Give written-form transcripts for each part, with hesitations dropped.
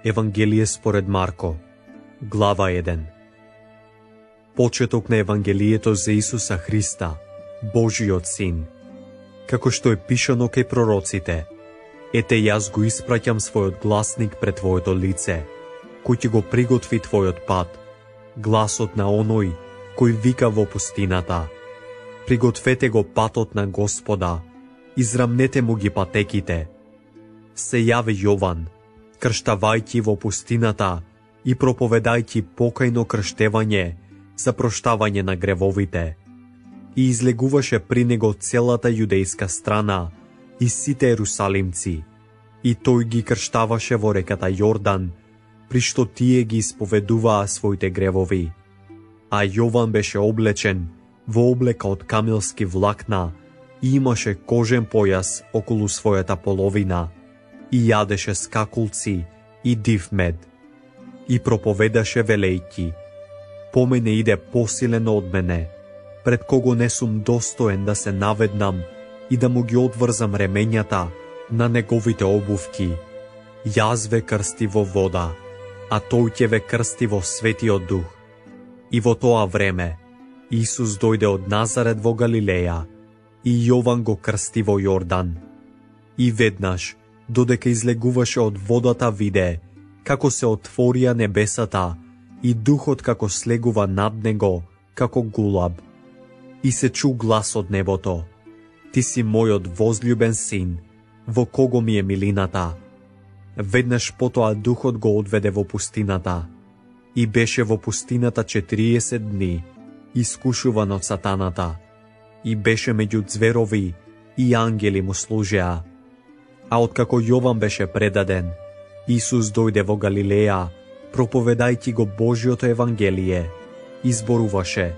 Евангелие според Марко, глава 1. Почеток на Евангелието за Исуса Христа, Божиот Син. Како што е пишано кај пророците: Ете, јас го испраќам својот гласник пред твоето лице, кој ќе го приготви твојот пат, гласот на оној кој вика во пустината. Пригответе го патот на Господа, израмнете му ги патеките. Се јави Јован, крштавајќи во пустината и проповедајќи покајно крштевање за проштавање на гревовите. И излегуваше при него целата јудејска страна и сите ерусалимци, и тој ги крштаваше во реката Јордан, при што тие ги исповедуваа своите гревови. А Јован беше облечен во облека од камилски влакна и имаше кожен појас околу својата половина и јадеше скакулци и див мед. И проповедаше велејќи: По мене иде посилен од мене, пред кого не сум достоен да се наведнам и да му ги одврзам ремењата на неговите обувки. Јас ве крсти во вода, а тој ќе ве крсти во Светиот Дух. И во тоа време Исус дојде од Назарет во Галилеја и Јован го крсти во Јордан. И веднаш, додека излегуваше од водата, виде како се отворија небесата и Духот како слегува над него како гулаб. И се чу глас од небото: Ти си мојот возљубен син, во кого ми е милината. Веднаш потоа Духот го одведе во пустината и беше во пустината 40 дни, искушуван од сатаната, и беше меѓу ѕверови и ангели му служеа. А откако Јован беше предаден, Исус дојде во Галилеја, проповедајќи го Божиото Евангелие, изборуваше: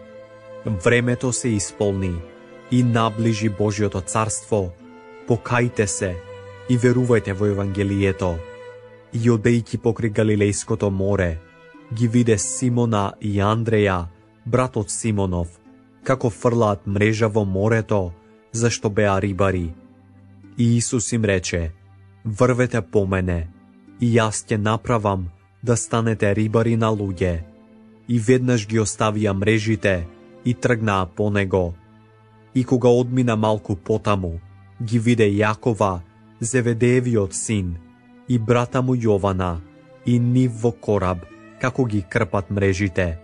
Времето се исполни и наближи Божиото царство, покајте се и верувајте во Евангелието. И одејќи покри Галилејското море, ги виде Симона и Андреја, брат од Симонов, како фрлаат мрежа во морето, зашто беа рибари. И Исус им рече: Врвете по мене, и јас ќе направам да станете рибари на луѓе. И веднаш ги оставија мрежите и тргнаа по него. И кога одмина малку потаму, ги виде Јакова, Зеведеевиот син, и брата му Јована, и нив во кораб, како ги крпат мрежите.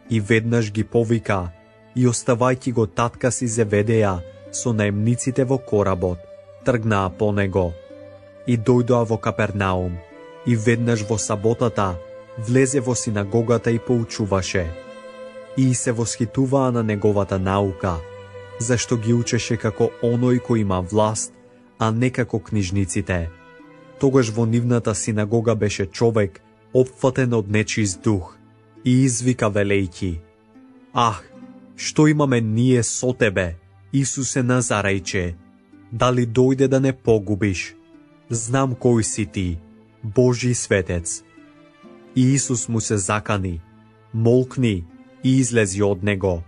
И веднаш ги повика, и оставајќи го татка си Зеведеја со наемниците во коработ, тргнаа по него. И дојдоа во Капернаум, и веднаш во саботата влезе во синагогата и поучуваше. И се восхитуваа на неговата наука, зашто ги учеше како оној кој има власт, а не како книжниците. Тогаш во нивната синагога беше човек опфатен од нечист дух и извика велејќи: Ах, што имаме ние со тебе, Исусе Назарејче? Дали дојде да не погубиш? Знам кој си ти, Божи светец. И Исус му се закани: Молкни, и излези од него.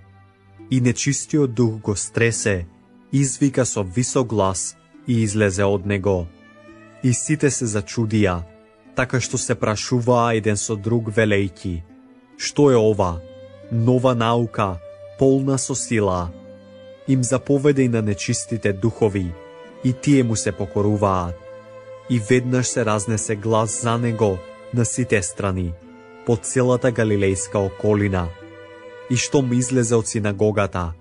И нечистиот дух го стресе, извика со висок глас и излезе од него. И сите се зачудија, така што се прашуваа еден со друг велејќи: Што е ова? Нова наука, полна со сила. Им заповеде и на нечистите духови, и тие му се покоруваат. И веднаш се разнесе глас за него на сите страни, по целата галилејска околина. И штом излезе од синагогата,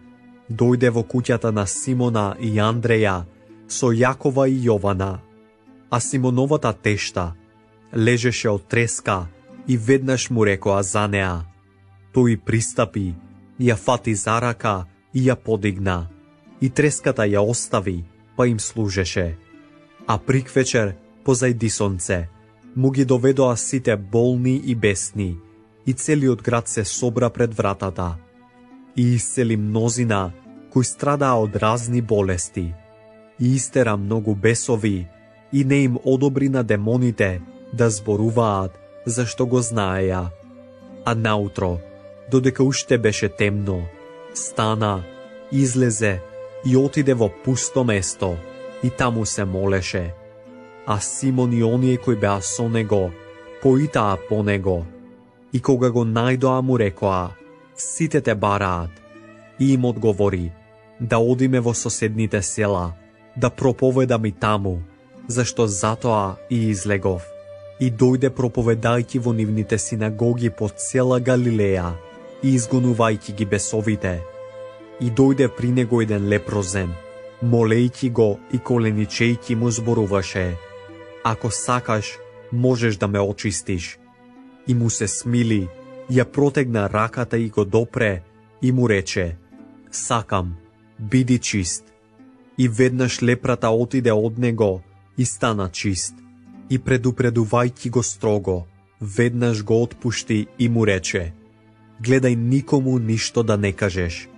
дојде во куќата на Симона и Андреја со Јакова и Јована. А Симоновата тешта лежеше од треска и веднаш му рекоа за неа. Тој пристапи, ја фати за рака и ја подигна, и треската ја остави, па им служеше. А приквечер, позајди сонце, му ги доведоа сите болни и бесни, и целиот град се собра пред вратата. И исцели мнозина кои страдаа од разни болести, и истера многу бесови, и не им одобри на демоните да зборуваат, зашто го знаеја. А наутро, додека уште беше темно, стана, излезе и отиде во пусто место, и таму се молеше. А Симон и оние кои беа со него поитаа по него, и кога го најдоа му рекоа: сите те бараат. И им одговори: да одиме во соседните села, да проповедам и таму, зашто затоа и излегов. И дојде проповедајќи во нивните синагоги по цела Галилеја и изгонувајќи ги бесовите. И дојде при него еден лепрозен, молејќи го и коленичејќи му зборуваше: ако сакаш, можеш да ме очистиш. И му се смили, ја протегна раката и го допре и му рече: сакам, биди чист. И веднаш лепрата отиде од него и стана чист. И предупредувајќи го строго, веднаш го отпушти и му рече: гледај никому ништо да не кажеш,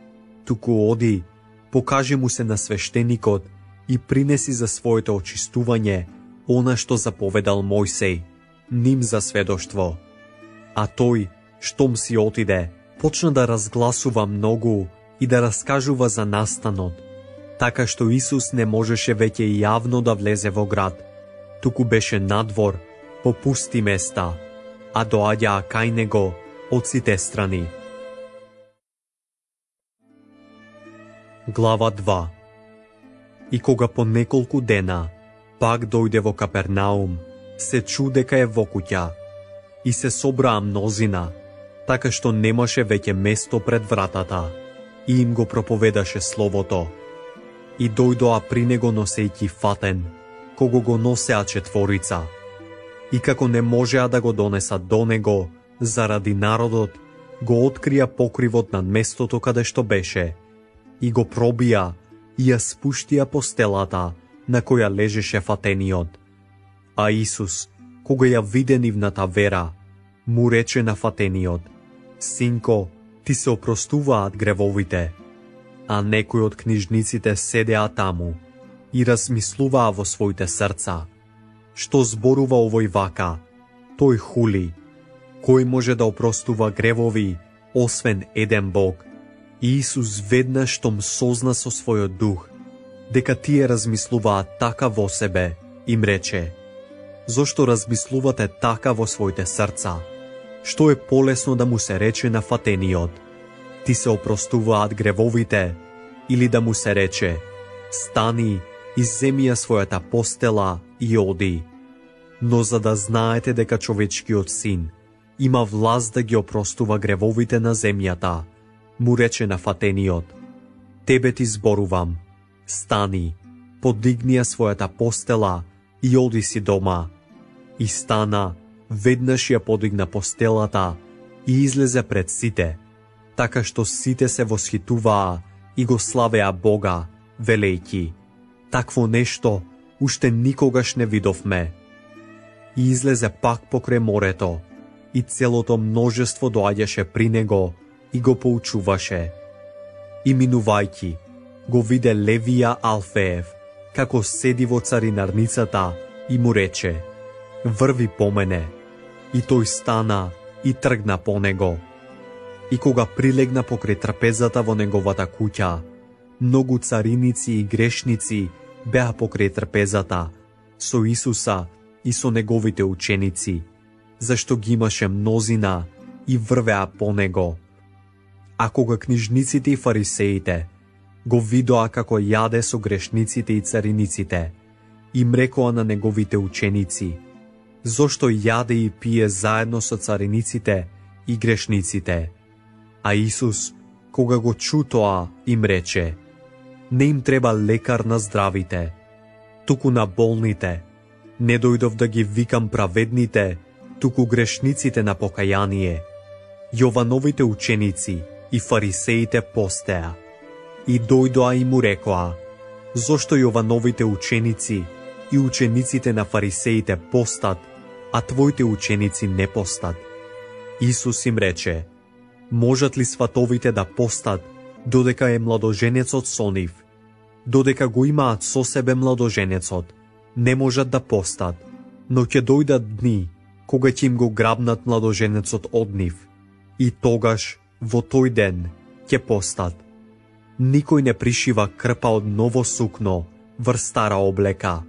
туку оди, покажи му се на свештеникот и принеси за своето очистување она што заповедал Мојсей, ним за сведоштво. А тој, штом си отиде, почна да разгласува многу и да раскажува за настанот, така што Исус не можеше веќе јавно да влезе во град, туку беше надвор, по пусти места, а доаѓаа кај него од сите страни. Глава 2. И кога по неколку дена пак дојде во Капернаум, се чу дека е во куќа, и се собраа мнозина, така што немаше веќе место пред вратата, и им го проповедаше словото. И дојдоа при него носејќи фатен, кого го носеа четворица. И како не можеа да го донесат до него, заради народот, го открија покривот над местото каде што беше, и го пробија и ја спуштија постелата на која лежеше фатениот. А Исус, кога ја виде нивната вера, му рече на фатениот: синко, ти се опростуваат гревовите. А некои од книжниците седеа таму и размислуваа во своите срца: што зборува овој вака? Тој хули. Кој може да опростува гревови, освен еден Бог? И Исус веднаш штом созна со својот дух дека тие размислуваат така во себе, им рече: зошто размислувате така во своите срца? Што е полесно да му се рече на фатениот: ти се опростуваат гревовите, или да му се рече: стани и земи ја својата постела и оди? Но за да знаете дека човечкиот син има власт да ги опростува гревовите на земјата, му рече на фатениот: тебе ти зборувам, стани, подигни ја својата постела и оди си дома. И стана, веднаш ја подигна постелата и излезе пред сите, така што сите се восхитуваа и го славеа Бога, велејќи: такво нешто уште никогаш не видовме. И излезе пак покрај морето, и целото множество доаѓаше при него и го поучуваше. И минувајќи, го виде Левија Алфеев, како седи во царинарницата, и му рече: врви по мене. И тој стана и тргна по него. И кога прилегна покрај трпезата во неговата куќа, многу цариници и грешници беа покрај трпезата, со Исуса и со неговите ученици, зашто ги имаше мнозина и врвеа по него. А кога книжниците и фарисеите го видоа како јаде со грешниците и цариниците, им рекоа на неговите ученици: зошто јаде и пие заедно со цариниците и грешниците? А Исус, кога го чу тоа, им рече: не им треба лекар на здравите, туку на болните. Не дојдов да ги викам праведните, туку грешниците на покаяние. Јовановите ученици и фарисеите постеа. И дојдоа и му рекоа: зошто Јовановите ученици и учениците на фарисеите постат, а твоите ученици не постат? Исус им рече: можат ли сватовите да постат додека е младоженецот со нив? Додека го имаат со себе младоженецот, не можат да постат, но ќе дојдат дни кога ќе им го грабнат младоженецот од нив, и тогаш, во тој ден, ќе постат. Никој не пришива крпа од ново сукно врз стара облека.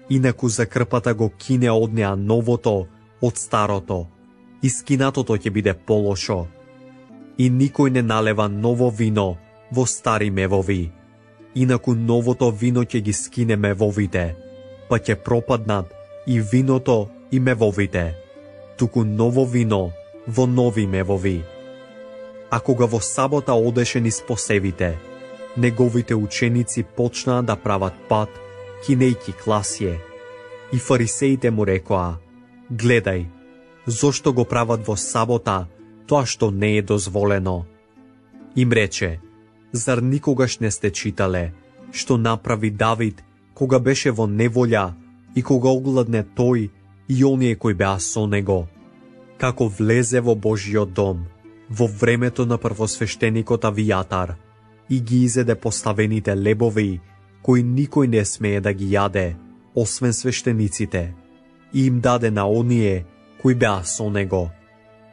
Инаку за крпата го кине од неа новото од старото, и скинатото ќе биде полошо. И никој не налева ново вино во стари мевови, инаку новото вино ќе ги скине мевовите, па ќе пропаднат и виното и мевовите, туку ново вино во нови мевови. А кога во сабота одеше низ посевите, неговите ученици почнаа да прават пат, кинејки класје. И фарисеите му рекоа: гледај, зошто го прават во сабота тоа што не е дозволено? Им рече: зар никогаш не сте читале што направи Давид кога беше во неволја и кога огладне тој и оние кои беа со него? Како влезе во Божиот дом во времето на првосвештеникот Авијатар и ги изеде поставените лебови кои никој не смее да ги јаде, освен свештениците, и им даде на оние кои беа со него.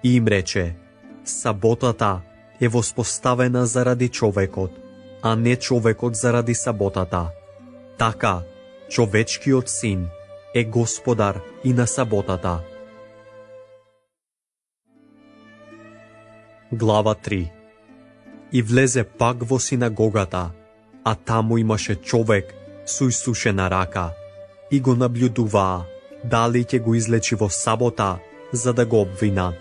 И им рече: саботата е воспоставена заради човекот, а не човекот заради саботата. Така, човечкиот син е господар и на саботата. Глава 3. И влезе пак во синагогата, а таму имаше човек со исушена рака, и го наблюдуваа дали ќе го излечи во сабота за да го обвинат.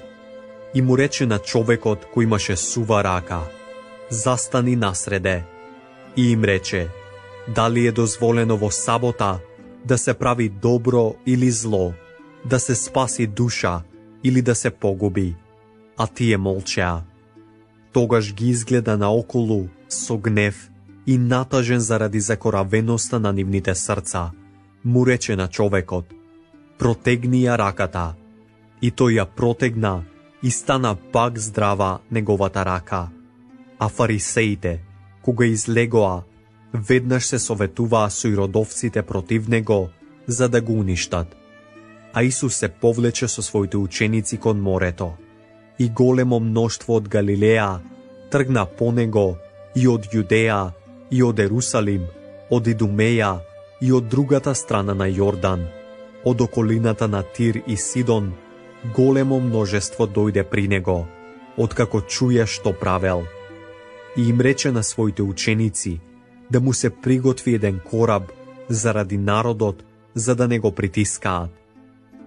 И му рече на човекот кој имаше сува рака: застани насреде. И им рече: дали е дозволено во сабота да се прави добро или зло, да се спаси душа или да се погуби? А тие молчеа. Тогаш ги изгледа наоколу со гнев и натажен заради закоравеноста на нивните срца, му рече на човекот: протегни ја раката. И тој ја протегна и стана пак здрава неговата рака. А фарисеите, кога излегоа, веднаш се советуваа со иродовците против него, за да го уништат. А Исус се повлече со своите ученици кон морето, и големо мноштво од Галилеја тргна по него, и од Јудеја, и од Ерусалим, од Идумеја, и од другата страна на Јордан, од околината на Тир и Сидон. Големо множество дојде при него, откако чуја што правел. И им рече на своите ученици да му се приготви еден кораб заради народот, за да не го притискаат,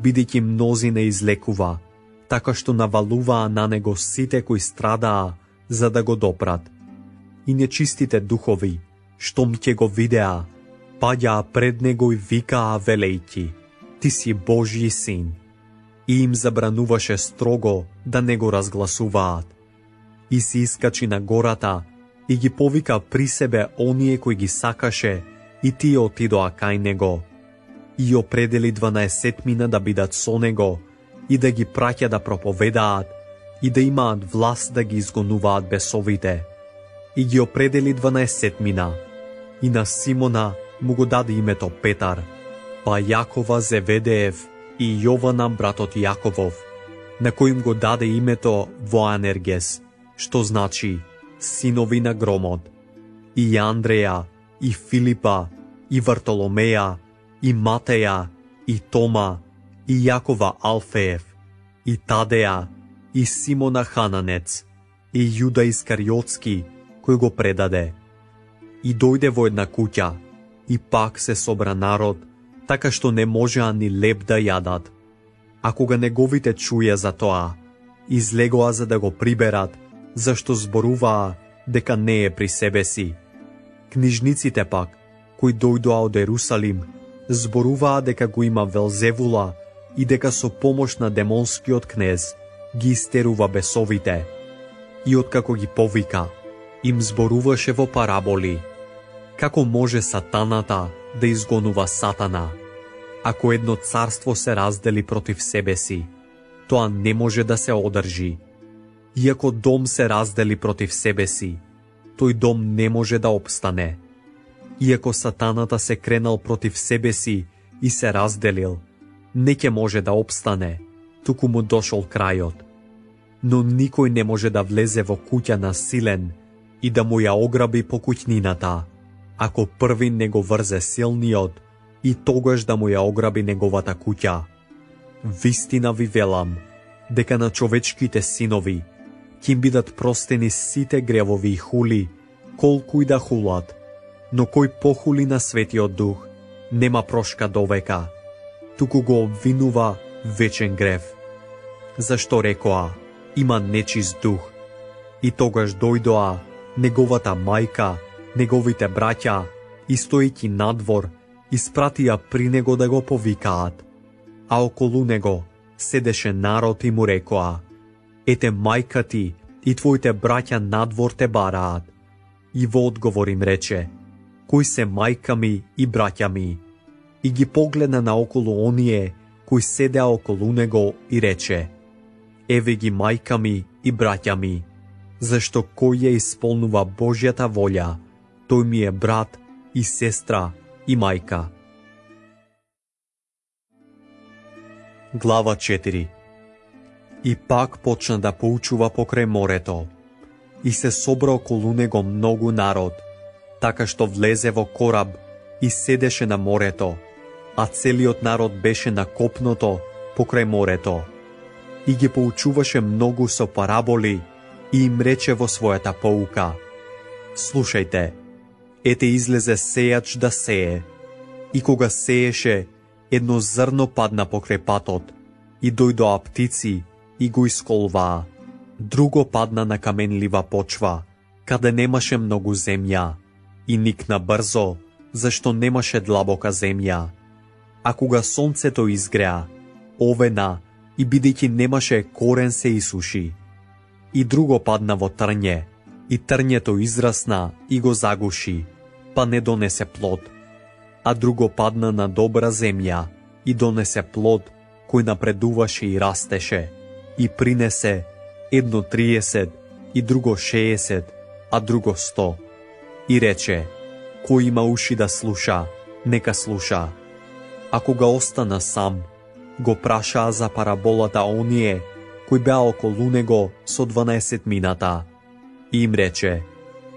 бидејќи мнози не излекува, така што навалуваа на него сите кои страдаа за да го допрат. И нечистите духови, штом ќе го видеа, паѓаа пред него и викаа велејќи: ти си Божји син. И им забрануваше строго да не го разгласуваат. И се искачи на гората и ги повика при себе оние кои ги сакаше, и тие отидоа кај него. И определи 12 да бидат со него и да ги праќа да проповедаат и да имаат власт да ги изгонуваат бесовите. И ги определи 12 и на Симона му го даде името Петар, па Јакова Зеведеев и Јована братот Јаковов, на кој го даде името Воанергес, што значи синови на громот, и Андреја, и Филипа, и Вартоломеја, и Матеја, и Тома, и Јакова Алфеев, и Тадеја, и Симона Хананец, и Јуда Искариотски, кој го предаде. И дојде во една куќа, и пак се собра народ, така што не можеа ни леб да јадат. А кога неговите чуја за тоа, излегоа за да го приберат, зашто зборуваа дека не е при себе си. Книжниците пак, кои дојдоа од Ерусалим, зборуваа дека го има Велзевула и дека со помош на демонскиот кнез ги истерува бесовите. И откако ги повика, им зборуваше во параболи. Како може сатаната да изгонува сатана? Ако едно царство се раздели против себе си, тоа не може да се одржи. И ако дом се раздели против себе си, тој дом не може да опстане. Иако сатаната се кренал против себе си и се разделил, не ќе може да опстане, туку му дошол крајот. Но никој не може да влезе во куќа на силен и да му ја ограби по куќнината, ако први не го врзе силниот и тогаш да му ја ограби неговата куќа. Вистина ви велам, дека на човечките синови ќе им бидат простени сите гревови и хули, колку и да хулат, но кој похули на Светиот Дух, нема прошка довека, туку го обвинува вечен грев. Зашто рекоа, има нечист дух, и тогаш дојдоа неговата мајка, неговите браќа, и стоејќи надвор, испратија при него да го повикаат, а околу него седеше народ и му рекоа, ете мајка ти и твоите браќа надвор те бараат. И во одговор им рече, кои се мајка ми и браќа ми? И ги погледна наоколу оние кои седеа околу него и рече, еве ги мајка ми и браќа ми, зашто кој ја исполнува Божјата волја, тој ми е брат и сестра и мајка. Глава 4. И пак почна да поучува покрај морето, и се собра околу него многу народ, така што влезе во кораб и седеше на морето, а целиот народ беше на копното покрај морето. И ги поучуваше многу со параболи и им рече во својата поука, слушајте, ете излезе сејач да сее, и кога сееше, едно зрно падна покрај патот, и дојдоа птици и го исколваа. Друго падна на каменлива почва, каде немаше многу земја, и никна брзо, зашто немаше длабока земја. А кога сонцето изгреа, овена и бидејќи немаше корен се исуши. И друго падна во трње, и трњето израсна и го загуши, па не донесе плод. А друго падна на добра земја и донесе плод кој напредуваше и растеше, и принесе едно 30, и друго 60, а друго 100. И рече, кој има уши да слуша, нека слуша. А кога остана сам, го прашаа за параболата оние кои беа околу него со 12 мината. И им рече,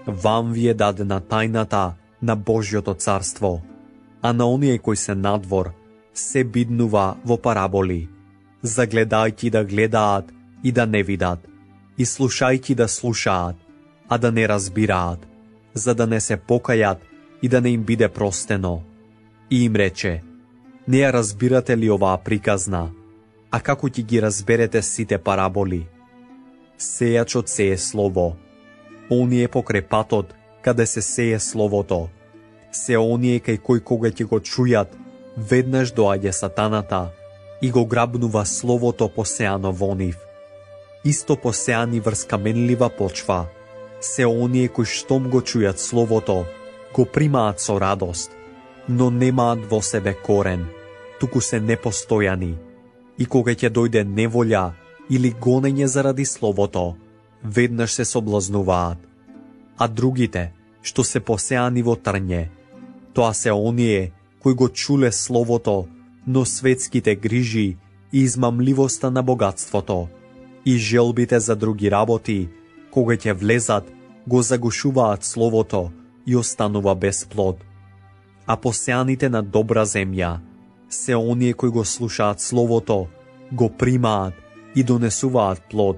вам ви е дадена тајната на Божјото царство, а на оние кои се надвор се биднува во параболи, загледајќи да гледаат и да не видат, и слушајќи да слушаат, а да не разбираат, за да не се покајат и да не им биде простено. И им рече, не ја разбирате ли оваа приказна, а како ќе ги разберете сите параболи? Сејачот сее слово, оние покрај патот, каде се сее словото, се оние кај кој кога ќе го чујат, веднаш доаѓа сатаната и го грабнува словото посеано во нив. Исто посеани врз каменлива почва, се оние кои штом го чујат словото, го примаат со радост, но немаат во себе корен, туку се непостојани, и кога ќе дојде неволја или гонење заради словото, веднаш се соблазнуваат. А другите, што се посеани во трње, тоа се оние кои го чуле словото, но светските грижи и измамливоста на богатството и желбите за други работи, кога ќе влезат, го загушуваат словото и останува без плод. А посеаните на добра земја се оние кои го слушаат словото, го примаат и донесуваат плод,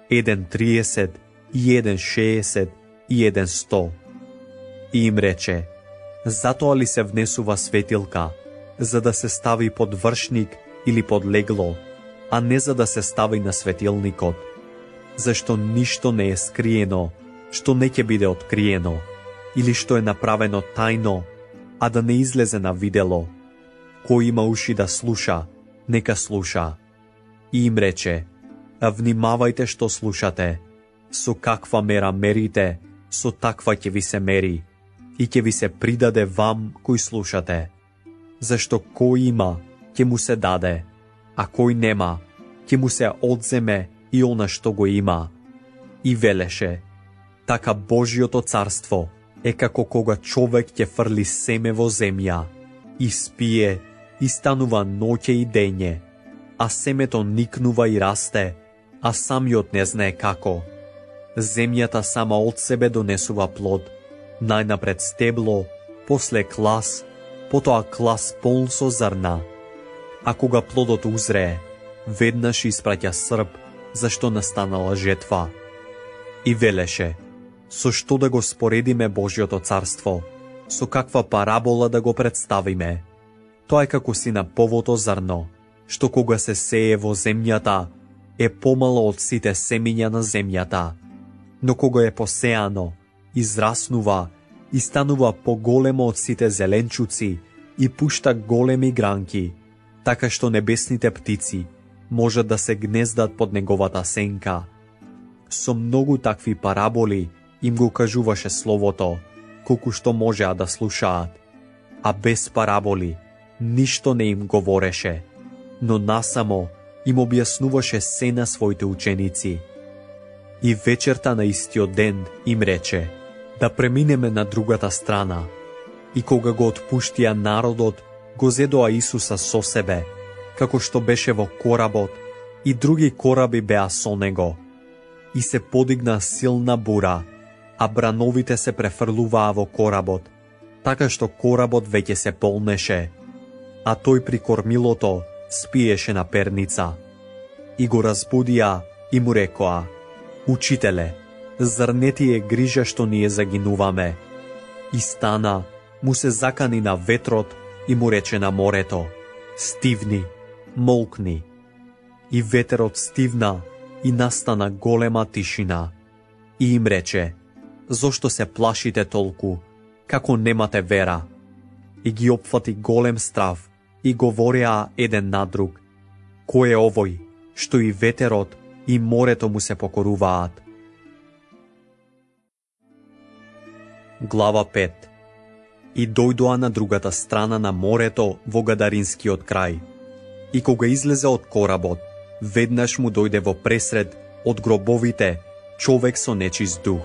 еден 30, и еден 60, и еден 100. И им рече, затоа ли се внесува светилка, за да се стави под вршник или под легло, а не за да се стави на светилникот? Зашто ништо не е скриено, што не ќе биде откриено, или што е направено тајно, а да не излезе на видело. Кој има уши да слуша, нека слуша. И им рече, внимавајте што слушате, со каква мера мерите, со таква ќе ви се мери, и ќе ви се придаде вам кои слушате. Зашто кој има, ќе му се даде, а кој нема, ќе му се одземе и она што го има. И велеше, така Божјото царство е како кога човек ќе фрли семе во земја, и спие, и станува ноќе и дење, а семето никнува и расте, а самиот не знае како. Земјата сама од себе донесува плод, најнапред стебло, после клас, потоа клас полн со зрна. А кога плодот узрее, веднаш испраќа срп, зашто настанала жетва. И велеше, со што да го споредиме Божјото царство, со каква парабола да го представиме? Тоа е како синаповото зрно, што кога се сее во земјата, е помало од сите семиња на земјата, но кога е посеано, израснува и станува поголемо од сите зеленчуци и пушта големи гранки, така што небесните птици можат да се гнездат под неговата сенка. Со многу такви параболи им го кажуваше Словото, колку што можеа да слушаат, а без параболи ништо не им говореше, но насамо им објаснуваше се на своите ученици. И вечерта на истиот ден им рече да преминеме на другата страна. И кога го отпуштија народот, го зедоа Исуса со себе, како што беше во коработ, и други кораби беа со него. И се подигна силна бура, а брановите се префрлуваа во коработ, така што коработ веќе се полнеше, а тој при кормилото спиеше на перница. И го разбудија и му рекоа: Учителе, зар не ти е грижа што ние загинуваме? И стана, му се закани на ветрот и му рече на морето: Стивни, молкни. И ветерот стивна и настана голема тишина. И им рече: Зошто се плашите толку, како немате вера? И ги опфати голем страв и говореа еден на друг: Кој е овој, што и ветерот и морето му се покоруваат? Глава 5. И дојдоа на другата страна на морето во Гадаринскиот крај. И кога излезе од коработ, веднаш му дојде во пресред од гробовите човек со нечист дух.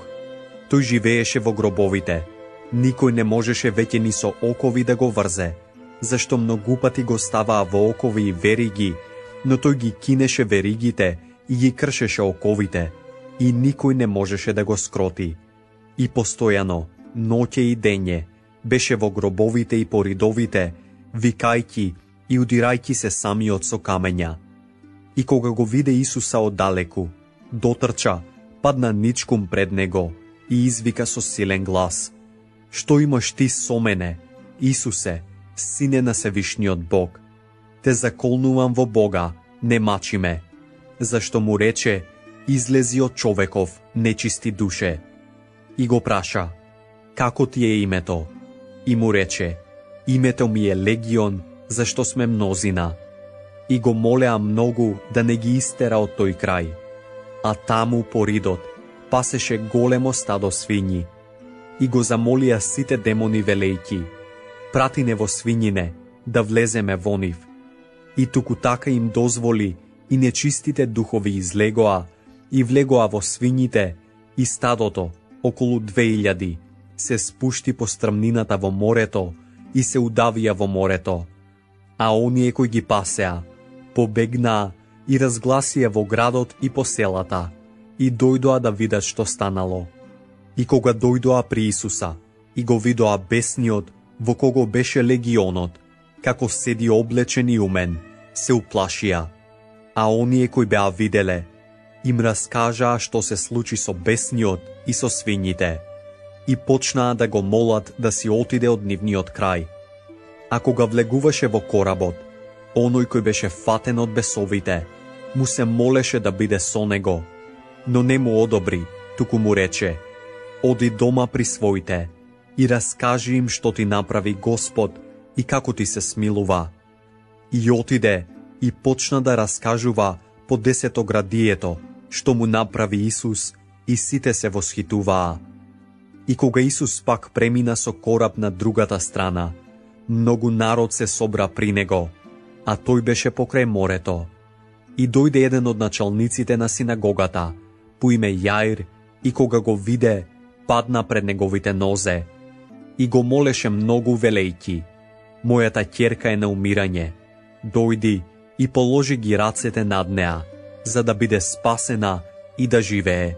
Тој живееше во гробовите. Никој не можеше веќе ни со окови да го врзе, зашто многу пати го ставаа во окови и вериги, но тој ги кинеше веригите и ги кршеше оковите, и никој не можеше да го скроти. И постојано, ноќе и дење, беше во гробовите и поридовите, викајки и удирајки се самиот со камења. И кога го виде Исуса оддалеку, дотрча, падна ничкум пред него и извика со силен глас: Што имаш ти со мене, Исусе, Сине на Севишниот Бог? Те заколнувам во Бога, не мачи ме. Зашто му рече: Излези од човеков, нечисти душе. И го праша: Како ти е името? И му рече: Името ми е Легион, зашто сме мнозина. И го молеа многу да не ги истера од тој крај. А таму поридот пасеше големо стадо свињи. И го замолија сите демони велејки: Прати не во свињине, да влеземе во нив. И туку така им дозволи, и нечистите духови излегоа, и влегоа во свињите, и стадото, околу 2000, се спушти по стрмнината во морето и се удавија во морето. А оние кои ги пасеа, побегнаа и разгласија во градот и по селата, и дојдоа да видат што станало. И кога дојдоа при Исуса, и го видоа бесниот, во кого беше легионот, како седи облечен и умен, се уплашија. А оние кои беа виделе, им раскажаа што се случи со бесниот и со свињите, и почнаа да го молат да си отиде од нивниот крај. А кога влегуваше во коработ, оној кој беше фатен од бесовите, му се молеше да биде со него, но не му одобри, туку му рече: Оди дома при своите и раскажи им што ти направи Господ и како ти се смилува. И отиде и почна да раскажува по 10-градието што му направи Исус, и сите се восхитуваа. И кога Исус пак премина со кораб на другата страна, многу народ се собра при него, а тој беше покрај морето. И дојде еден од началниците на синагогата, по име Јаир, и кога го виде, падна пред неговите нозе и го молеше многу велејки: Мојата ќерка е на умирање, дојди и положи ги рацете над неа, за да биде спасена и да живее.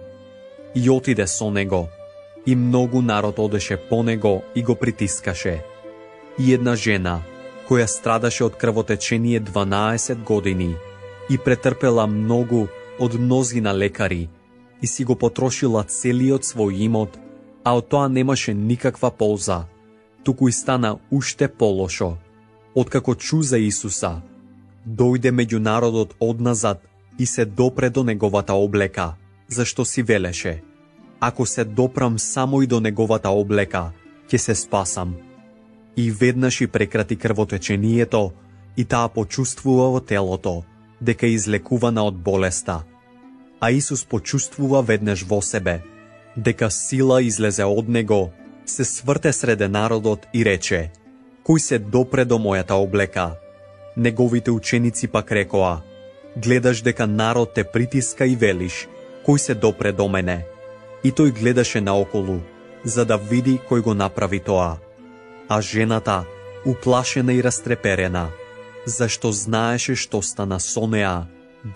И отиде со него, и многу народ одеше по него и го притискаше. И една жена, која страдаше од крвотечение 12 години, и претрпела многу од мнозина лекари и си го потрошила целиот свој имот, а од тоа немаше никаква полза, туку и стана уште полошо. Откако чу за Исуса, дојде меѓу народот одназад и се допре до неговата облека, зашто си велеше: ако се допрам само и до неговата облека, ќе се спасам. И веднаш и прекрати крвотечението и таа почувствува во телото дека е излекувана од болеста. А Исус почувствува веднаш во себе дека сила излезе од него, се сврте среде народот и рече: кој се допре до мојата облека? Неговите ученици пак рекоа: гледаш дека народ те притиска и велиш: кој се допре до мене? И тој гледаше наоколу, за да види кој го направи тоа. А жената, уплашена и растреперена, зашто знаеше што стана со неа,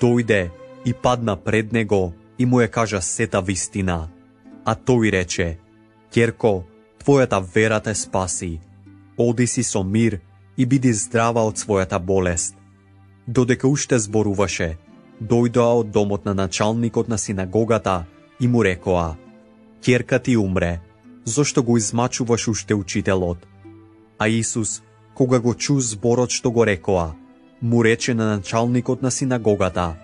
дојде и падна пред него и му ја кажа сета вистина. А тој рече: ќерко, твојата вера те спаси. Оди си со мир и биди здрава од својата болест. Додека уште зборуваше, дојдоа од домот на началникот на синагогата и му рекоа: ќерка ти умре, зошто го измачуваш уште учителот? А Исус, кога го чу зборот што го рекоа, му рече на началникот на синагогата: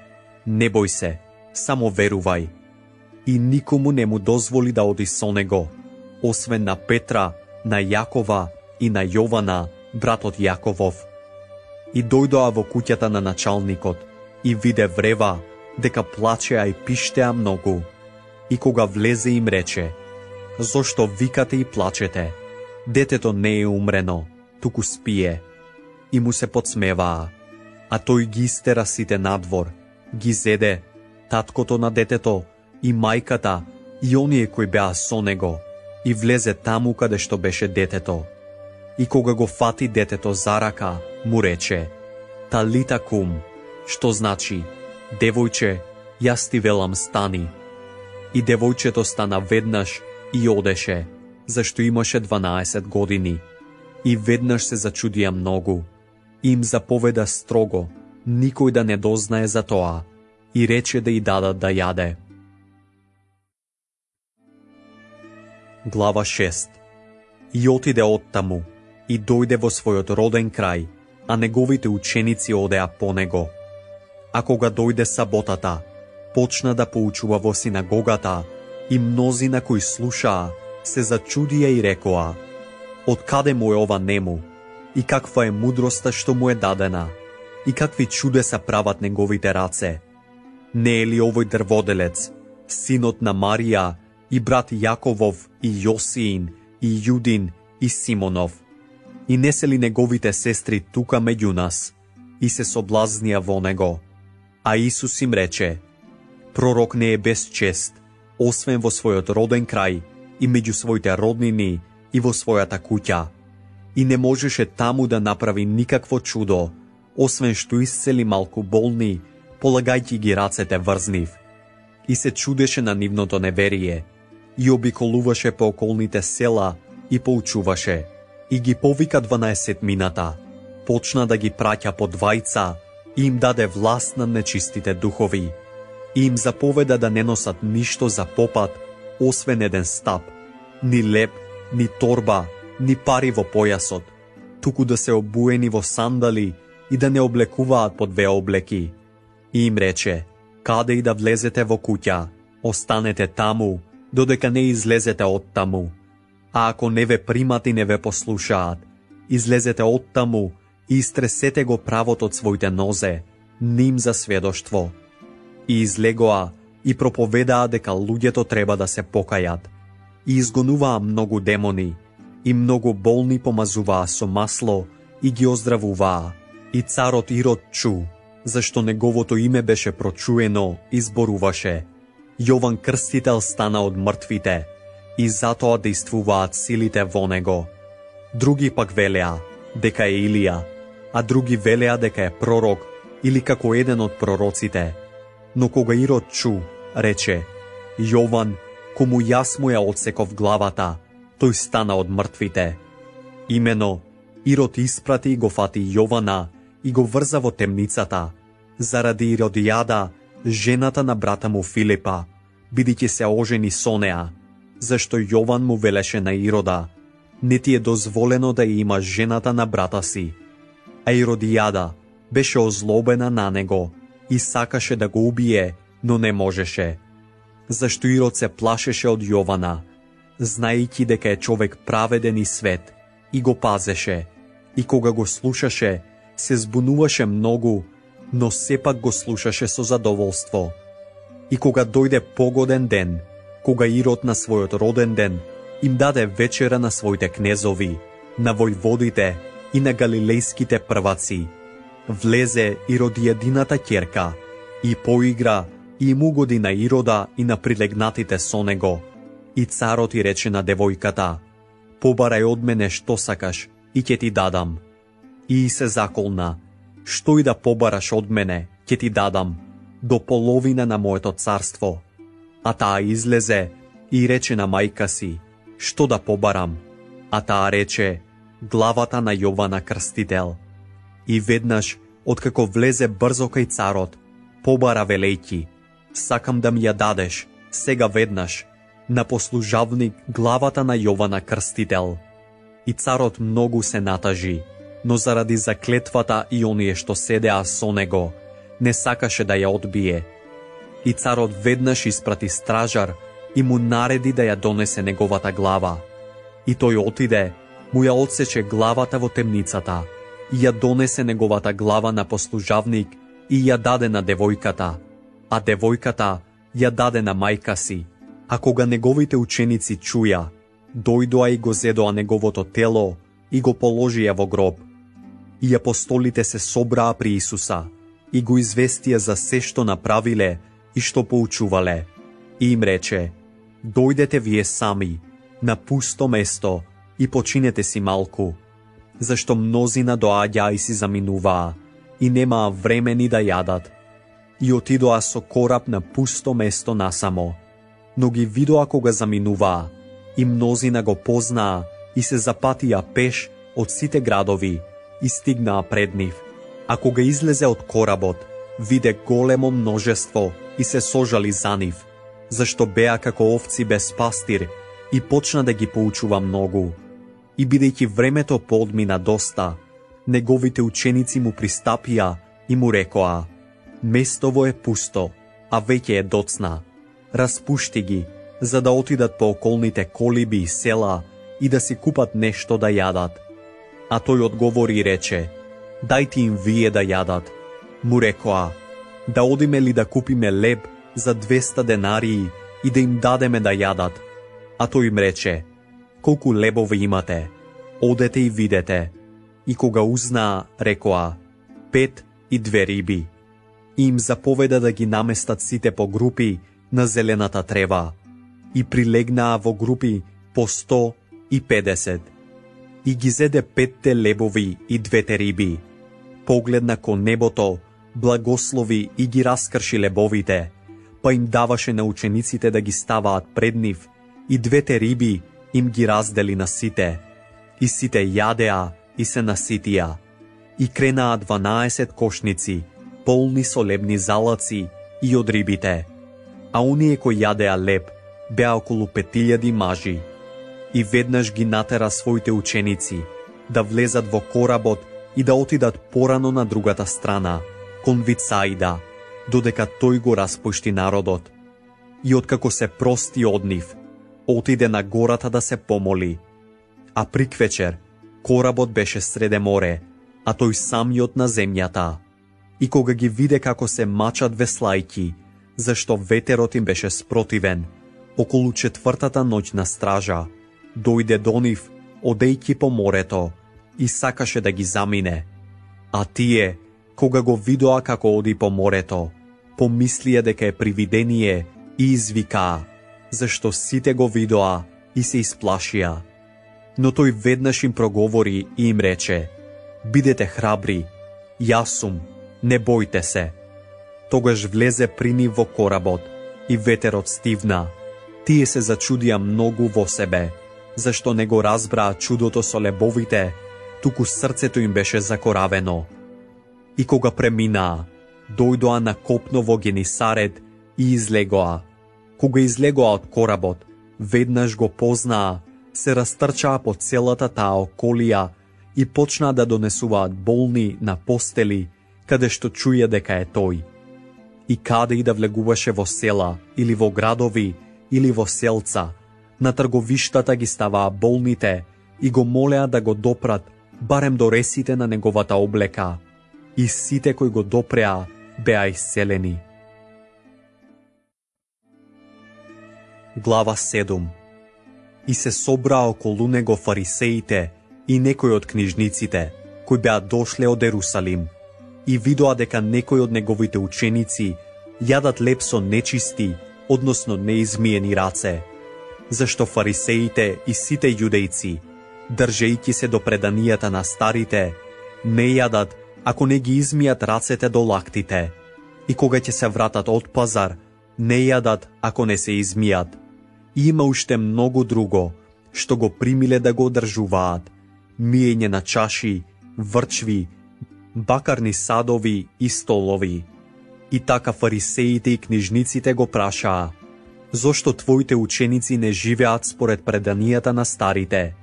не бој се, само верувај. И никому не му дозволи да оди со него, освен на Петра, на Јакова и на Јована, братот Јаковов. И дојдоа во куќата на началникот и виде врева дека плачеа и пиштеа многу. И кога влезе им рече: зошто викате и плачете? Детето не е умрено, туку спие. И му се подсмеваа. А тој ги истера сите надвор, ги зеде, таткото на детето и мајката и оние кои беа со него, и влезе таму каде што беше детето. И кога го фати детето за рака, му рече: талита кум, што значи: девојче, јас ти велам стани. И девојчето стана веднаш и одеше, зашто имаше 12 години. И веднаш се зачудија многу. Им заповеда строго никој да не дознае за тоа и рече да и дадат да јаде. Глава 6. И отиде оттаму и дојде во својот роден крај, а неговите ученици одеа по него. А кога дојде саботата, почна да поучува во синагогата и мнозина кои слушаа се зачудија и рекоа: од каде му е ова нему? И каква е мудроста што му е дадена? И какви чудеса прават неговите раце? Не е ли овој дрводелец, синот на Марија и брат Јаковов и Јосиин и Јудин и Симонов? И не се ли неговите сестри тука меѓу нас? И се соблазнија во него. А Исус им рече: пророк не е без чест, освен во својот роден крај и меѓу своите роднини и во својата куќа. И не можеше таму да направи никакво чудо, освен што исцели малку болни, полагајќи ги рацете врз нив. И се чудеше на нивното неверие, и обиколуваше по околните села и поучуваше, и ги повика 12 мината, почна да ги праќа по двајца и им даде власт над нечистите духови, и им заповеда да не носат ништо за попат, освен еден стап, ни леп, ни торба, ни пари во појасот, туку да се обуени во сандали и да не облекуваат по 2 облеки. И им рече: каде и да влезете во куќа, останете таму, додека не излезете од таму. А ако не ве примат и не ве послушаат, излезете од таму и истресете го правот од своите нозе, ним за сведоштво. И излегоа и проповедаа дека луѓето треба да се покајат. И изгонуваа многу демони, и многу болни помазуваа со масло и ги оздравуваа. И царот Ирод чу, зашто неговото име беше прочуено и зборуваше: Јован Крстител стана од мртвите, и затоа действуваат силите во него. Други пак велеа дека е Илија, а други велеа дека е пророк или како еден од пророците. Но кога Ирод чу, рече: Јован, кому јас му ја одсеков главата, тој стана од мртвите. Имено, Ирод испрати и го фати Јована и го врза во темницата, заради Иродијада, жената на брата му Филипа, бидејќи се ожени со неа, зашто Јован му велеше на Ирода: не ти е дозволено да ја имаш жената на брата си. А Иродијада беше озлобена на него и сакаше да го убие, но не можеше. Зашто Ирод се плашеше од Јована, знаејќи дека е човек праведен и свет, и го пазеше, и кога го слушаше, се збунуваше многу, но сепак го слушаше со задоволство. И кога дојде погоден ден, кога Ирод на својот роден ден им даде вечера на своите кнезови, на војводите и на галилејските прваци, влезе Иродијадината ќерка и поигра и им угоди на Ирода и на прилегнатите со него. И царот и рече на девојката: побарај од мене што сакаш и ќе ти дадам. И се заколна: што и да побараш од мене, ќе ти дадам, до половина на моето царство. А таа излезе и рече на мајка си: што да побарам? А таа рече: главата на Јована Крстител. И веднаш, откако влезе брзо кај царот, побара велејќи: сакам да ми ја дадеш, сега веднаш, на послужавник главата на Јована Крстител. И царот многу се натажи, но заради заклетвата и оние што седеа со него, не сакаше да ја одбие. И царот веднаш испрати стражар и му нареди да ја донесе неговата глава. И тој отиде, му ја одсече главата во темницата, и ја донесе неговата глава на послужавник и ја даде на девојката, а девојката ја даде на мајка си. А кога неговите ученици чуја, дојдоа и го зедоа неговото тело и го положија во гроб. И апостолите се собраа при Исуса и го известија за се што направиле и што поучувале. И им рече: дојдете вие сами на пусто место и починете си малку, зашто мнозина доаѓаа и си заминуваа и немаа време ни да јадат. И отидоа со кораб на пусто место насамо, но ги видоа кога заминуваа, и мнозина го познаа и се запатија пеш од сите градови и стигнаа пред нив. А кога излезе од коработ, виде големо множество и се сожали за нив, зашто беа како овци без пастир, и почна да ги поучува многу. И бидејќи времето поодмина доста, неговите ученици му пристапија и му рекоа: местово е пусто, а веќе е доцна. Распушти ги, за да отидат по околните колиби и села и да си купат нешто да јадат. А тој одговори и рече: дајте им вие да јадат. Му рекоа: да одиме ли да купиме леб за 200 денарии и да им дадеме да јадат? А тој им рече: колку лебови имате? Одете и видете. И кога узнаа, рекоа: 5 и 2 риби. И им заповеда да ги наместат сите по групи на зелената трева. И прилегнаа во групи по 150. И ги зеде 5 лебови и 2 риби. Погледна кон небото, благослови и ги раскрши лебовите, па им даваше на учениците да ги ставаат пред нив, и 2 риби им ги раздели на сите. И сите јадеа и се наситија. И кренаа 12 кошници, полни со лебни залаци и од рибите. А оние кои јадеа леб беа околу 5000 мажи. И веднаш ги натера своите ученици да влезат во коработ и да отидат порано на другата страна, кон Вицаида, додека тој го распушти народот. И откако се прости од нив, отиде на гората да се помоли. А приквечер коработ беше среде море, а тој самиот на земјата. И кога ги виде како се мачат веслајки, зашто ветерот им беше спротивен, околу 4-та ноќна стража, дојде до нив, одејќи по морето, и сакаше да ги замине. А тие, кога го видоа како оди по морето, помислија дека е привидение и извикаа, зашто сите го видоа и се исплашија. Но тој веднаш им проговори и им рече: бидете храбри, јас сум, не бојте се. Тогаш влезе при нив во коработ и ветерот стивна. Тие се зачудија многу во себе, зашто не го разбраа чудото со лебовите, туку срцето им беше закоравено. И кога преминаа, дојдоа на копно во Генисарет и излегоа. Кога излегоа од коработ, веднаш го познаа, се растрчаа по целата таа околија и почнаа да донесуваат болни на постели, каде што чуја дека е тој. И каде и да влегуваше во села, или во градови, или во селца, на трговиштата ги ставаа болните и го молеа да го допрат барем до ресите на неговата облека. И сите кои го допреа беа исцелени. Глава 7. И се собраа околу него фарисеите и некои од книжниците, кои беа дошле од Ерусалим, и видоа дека некои од неговите ученици јадат леп со нечисти, односно неизмиени раце, зашто фарисеите и сите јудејци, држејќи се до преданијата на старите, не јадат ако не ги измијат рацете до лактите, и кога ќе се вратат од пазар, не јадат ако не се измијат. И има уште многу друго, што го примиле да го одржуваат, миење на чаши, врчви, бакарни садови и столови. И така фарисеите и книжниците го прашаа: зошто твоите ученици не живеат според преданијата на старите,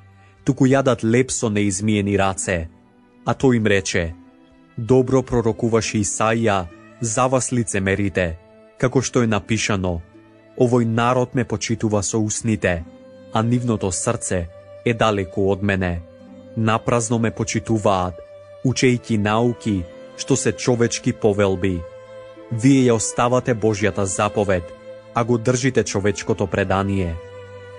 туку јадат леп со неизмиени раце? А тој им рече: добро пророкуваше Исаија за вас лицемерите, како што е напишано: овој народ ме почитува со усните, а нивното срце е далеку од мене. Напразно ме почитуваат, учејќи науки што се човечки повелби. Вие ја оставате Божјата заповед, а го држите човечкото предание.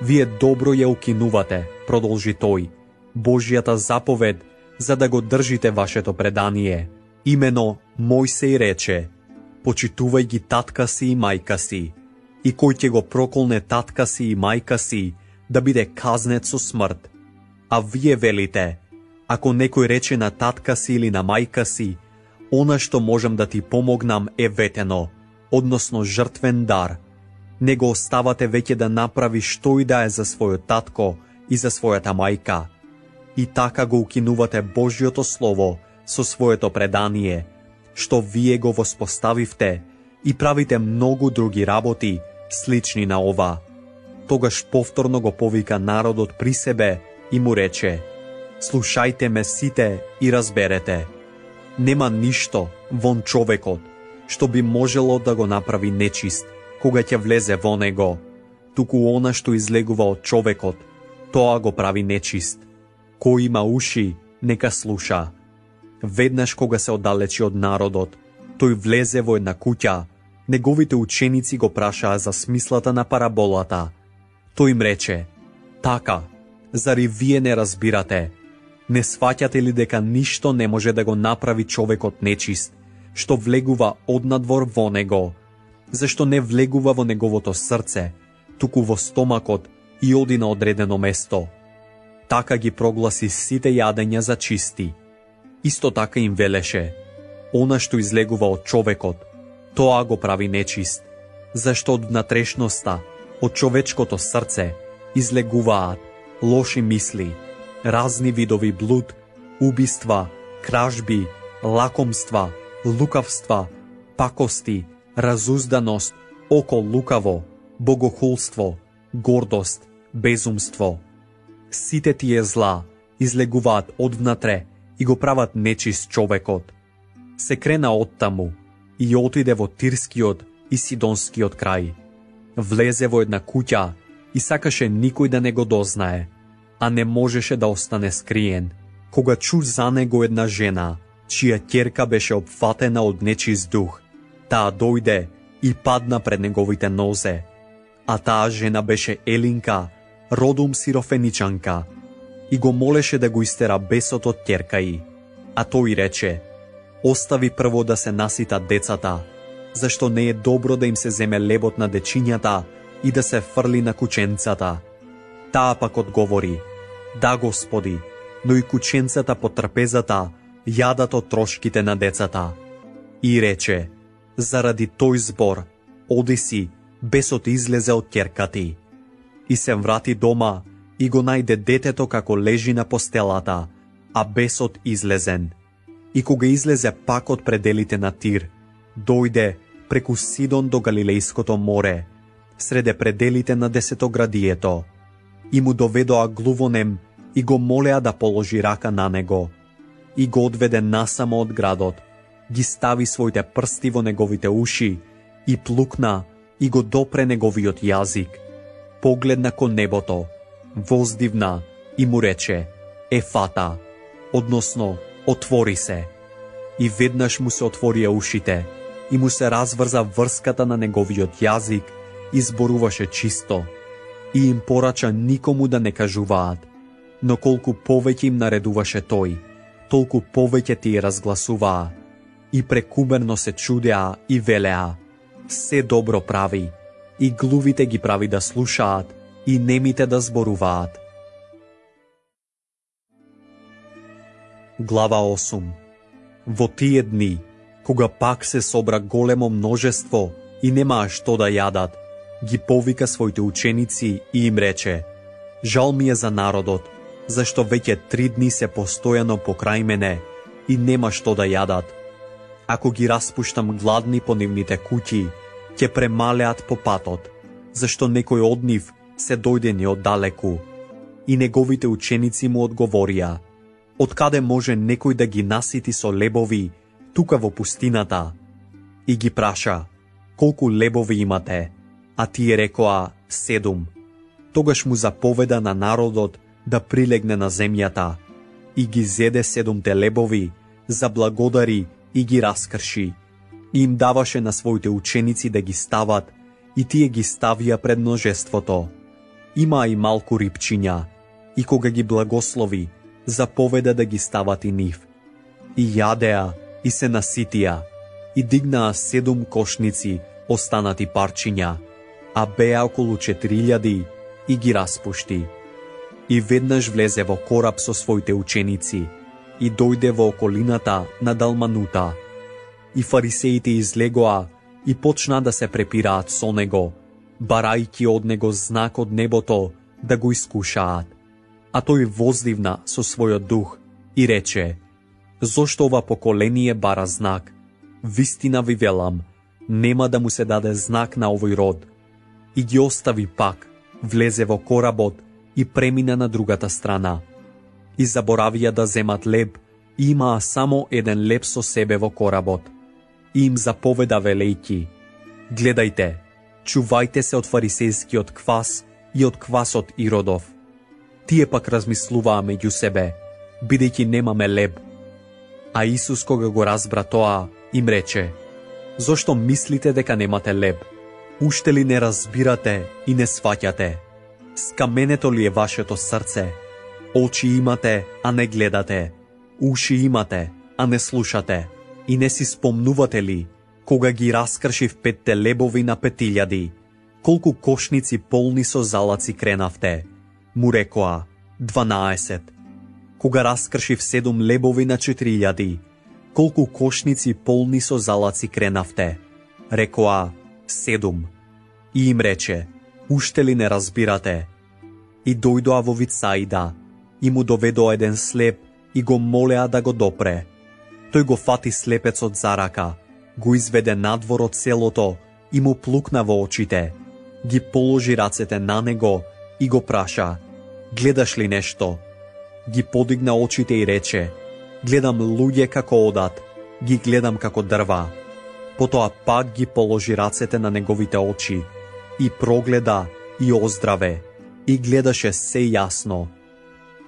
Вие добро ја укинувате, продолжи тој, Божјата заповед, за да го држите вашето предание. Имено Мојсеј рече: почитувај ги татка си и мајка си, и кој ќе го проколне татка си и мајка си, да биде казнет со смрт. А вие велите: ако некој рече на татка си или на мајка си: она што можам да ти помогнам е ветено, односно жртвен дар, не го оставате веќе да направи што и да е за својот татко и за својата мајка. И така го укинувате Божјото Слово со своето предание, што вие го воспоставивте, и правите многу други работи, слични на ова. Тогаш повторно го повика народот при себе и му рече: слушајте ме сите и разберете. Нема ништо вон човекот што би можело да го направи нечист кога ќе влезе во него, туку она што излегува од човекот, тоа го прави нечист. Кој има уши, нека слуша. Веднаш кога се оддалечи од народот, тој влезе во една куќа. Неговите ученици го прашаа за смислата на параболата. Тој им рече: така, зари вие не разбирате? Не сваќате ли дека ништо не може да го направи човекот нечист, што влегува однадвор во него? Зашто не влегува во неговото срце, туку во стомакот и оди на одредено место. Така ги прогласи сите јадења за чисти. Исто така им велеше: она што излегува од човекот, тоа го прави нечист, зашто од внатрешноста, од човечкото срце, излегуваат лоши мисли, разни видови блуд, убиства, кражби, лакомства, лукавства, пакости, разузданост, око лукаво, богохулство, гордост, безумство. Сите тие зла излегуваат одвнатре и го прават нечист човекот. Се крена оттаму и отиде во Тирскиот и Сидонскиот крај. Влезе во една куќа и сакаше никој да не го дознае, а не можеше да остане скриен, кога чу за него една жена, чија ќерка беше опфатена од нечист дух. Таа дојде и падна пред неговите нозе, а таа жена беше Елинка, родом сирофеничанка, и го молеше да го истера бесот од ќерка ѝ. А тој рече: остави прво да се наситат децата, зашто не е добро да им се земе лебот на дечињата и да се фрли на кученцата. Таа пак одговори: да, Господи, но и кученцата по трпезата јадат од трошките на децата. И рече: заради тој збор, оди си, бесот излезе од ќерка ти. И се врати дома и го најде детето како лежи на постелата, а бесот излезен. И кога излезе пак од пределите на Тир, дојде преку Сидон до Галилејското море, среде пределите на десетоградието, и му доведоа глувонем и го молеа да положи рака на него, и го одведе насамо од градот, ги стави своите прсти во неговите уши и плукна и го допре неговиот јазик. Погледна кон небото, воздивна и му рече Ефата, односно отвори се. И веднаш му се отворија ушите и му се разврза врската на неговиот јазик и зборуваше чисто. И им порача никому да не кажуваат, но колку повеќе им наредуваше тој, толку повеќе ти разгласуваа. И прекумерно се чудеа и велеа, се добро прави, и глувите ги прави да слушаат, и немите да зборуваат. Глава 8. Во тие дни, кога пак се собра големо множество и немаа што да јадат, ги повика своите ученици и им рече: Жал ми е за народот, зашто веќе 3 дни се постојано покрај мене и нема што да јадат. Ако ги распуштам гладни по нивните куќи, ќе премалеат по патот, зашто некој од нив се дојдени оддалеку. И неговите ученици му одговорија: Откаде може некој да ги насити со лебови тука во пустината? И ги праша: Колку лебови имате? А тие рекоа: 7. Тогаш му заповеда на народот да прилегне на земјата, и ги зеде 7 лебови, заблагодари и ги раскрши. И им даваше на своите ученици да ги стават, и тие ги ставија пред множеството. Има и малку рипчиња, и кога ги благослови, заповеда да ги стават и нив. И јадеа, и се наситија, и дигнаа 7 кошници останати парчиња, а беа околу 4000, и ги распушти. И веднаш влезе во кораб со своите ученици, и дојде во околината на Далманута. И фарисеите излегоа и почна да се препираат со него, барајќи од него знак од небото да го искушаат. А тој воздивна со својот дух и рече: Зошто ова поколение бара знак? Вистина ви велам, нема да му се даде знак на овој род. И ги остави пак, влезе во коработ и премина на другата страна. И заборавија да земат леб, и имаа само 1 леб со себе во коработ. И им заповеда велејќи: Гледајте, чувајте се од фарисејскиот квас и од квасот Иродов. Тие пак размислуваа меѓу себе, бидејќи немаме леб. А Исус, кога го разбра тоа, им рече: Зошто мислите дека немате леб? Уште ли не разбирате и не сваќате? Скаменето ли е вашето срце? Очи имате, а не гледате. Уши имате, а не слушате. И не си спомнувате ли, кога ги раскршив 5 лебови на 5000, колку кошници полни со залаци кренавте? Му рекоа: 12. Кога раскршив 7 лебови на 4000, колку кошници полни со залаци кренавте? Рекоа: 7. И им рече: Уште ли не разбирате? И дојдоа во Вицаида, и му доведоа 1 слеп и го молеа да го допре. Тој го фати слепецот за рака, го изведе надвор од селото и му плукна во очите, ги положи рацете на него и го праша: Гледаш ли нешто? Ги подигна очите и рече: Гледам луѓе како одат, ги гледам како дрва. Потоа пак ги положи рацете на неговите очи и прогледа и оздраве и гледаше се јасно.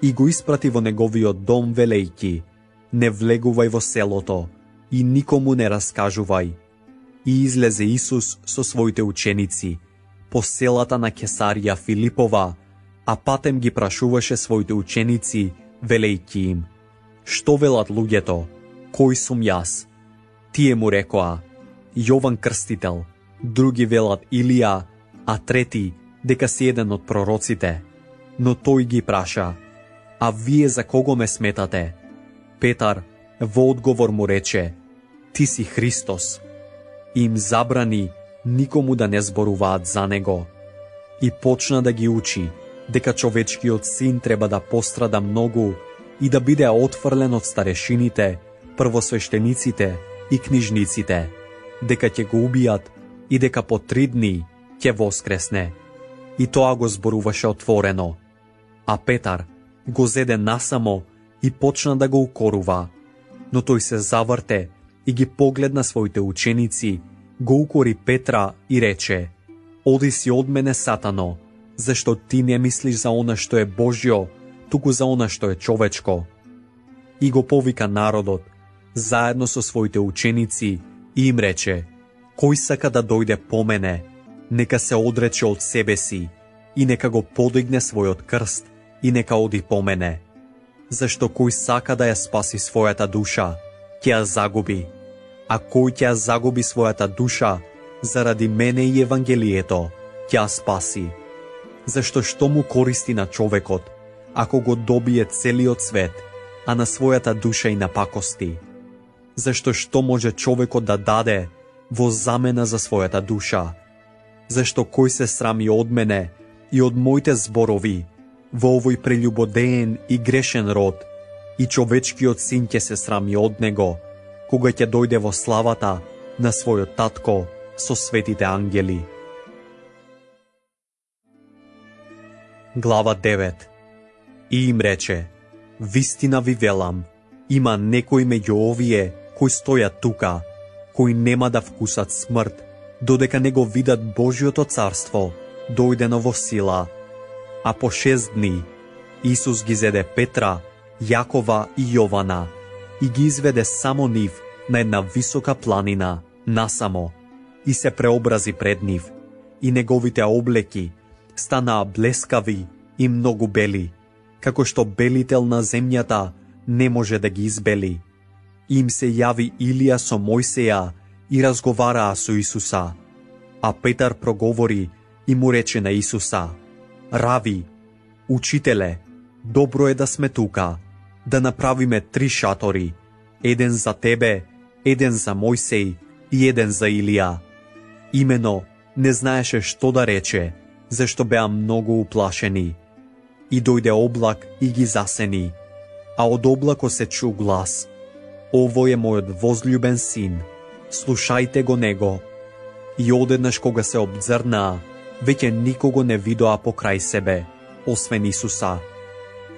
И го испрати во неговиот дом велејќи: Не влегувај во селото и никому не раскажувај. И излезе Исус со своите ученици по селата на Кесарија Филипова, а патем ги прашуваше своите ученици, велејќи им: Што велат луѓето? Кој сум јас? Тие му рекоа: Јован Крстител, други велат Илија, а трети дека си еден од пророците. Но тој ги праша: А вие за кого ме сметате? Петар во одговор му рече: Ти си Христос. И им забрани никому да не зборуваат за него. И почна да ги учи дека човечкиот син треба да пострада многу и да биде отфрлен од старешините, првосвештениците и книжниците, дека ќе го убијат и дека по 3 дни ќе воскресне. И тоа го зборуваше отворено. А Петар го зеде насамо и почна да го укорува. Но тој се заврте и ги погледна своите ученици, го укори Петра и рече: Оди си од мене, Сатано, зашто ти не мислиш за она што е Божјо, туку за она што е човечко. И го повика народот, заедно со своите ученици, и им рече: Кој сака да дојде по мене, нека се одрече од себе си и нека го подигне својот крст и нека оди по мене. Зашто кој сака да ја спаси својата душа, ќе ја загуби, а кој ќе ја загуби својата душа, заради мене и Евангелието, ќе ја спаси. Зашто што му користи на човекот, ако го добие целиот свет, а на својата душа и напакости? Зашто што може човекот да даде во замена за својата душа? Зашто кој се срами од мене и од моите зборови во овој прелюбодеен и грешен род, и човечкиот син ќе се срами од него, кога ќе дојде во славата на својот татко со светите ангели. Глава 9. И им рече: Вистина ви велам, има некои меѓу овие кои стојат тука, кои нема да вкусат смрт, додека не го видат Божјото царство дојдено во сила. А по 6 дни Исус ги зеде Петра, Јакова и Јована и ги изведе само нив на една висока планина, насамо, и се преобрази пред нив, и неговите облеки станаа блескави и многу бели, како што белител на земјата не може да ги избели. Им се јави Илија со Мојсеја и разговараа со Исуса. А Петар проговори и му рече на Исуса: Рави, учителе, добро е да сме тука, да направиме 3 шатори, еден за тебе, еден за Мојсеј и еден за Илија. Имено не знаеше што да рече, зашто беа многу уплашени. И дојде облак и ги засени, а од облакот се чу глас: Овој е мојот возљубен син, слушајте го него. И одеднаш кога се обзрнаа, веќе никого не видоа покрај себе, освен Исуса.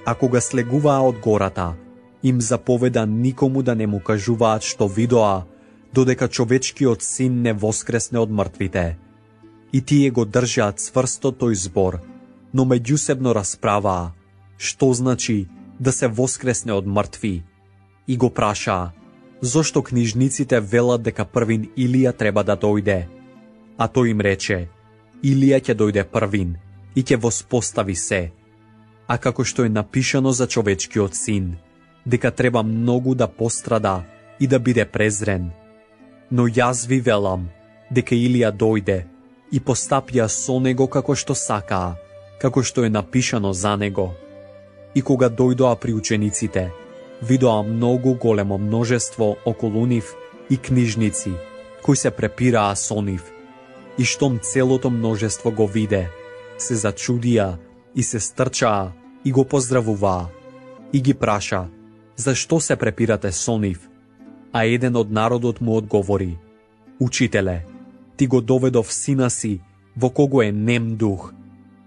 А кога слегуваа од гората, им заповеда никому да не му кажуваат што видоа, додека човечкиот син не воскресне од мртвите. И тие го држаа цврсто тој збор, но меѓусебно расправаа што значи да се воскресне од мртви. И го прашаа: зошто книжниците велат дека првин Илија треба да дојде? А тој им рече: Илија ќе дојде првин и ќе воспостави се. А како што е напишано за човечкиот син, дека треба многу да пострада и да биде презрен. Но јас ви велам дека Илија дојде и постапија со него како што сакаа, како што е напишано за него. И кога дојдоа при учениците, видоа многу големо множество околу нив и книжници, кои се препираа со нив. И штом целото множество го виде, се зачудија и се стрчаа и го поздравуваа. И ги праша: зашто се препирате со нив? А еден од народот му одговори: Учителе, ти го доведов сина си, во кого е нем дух,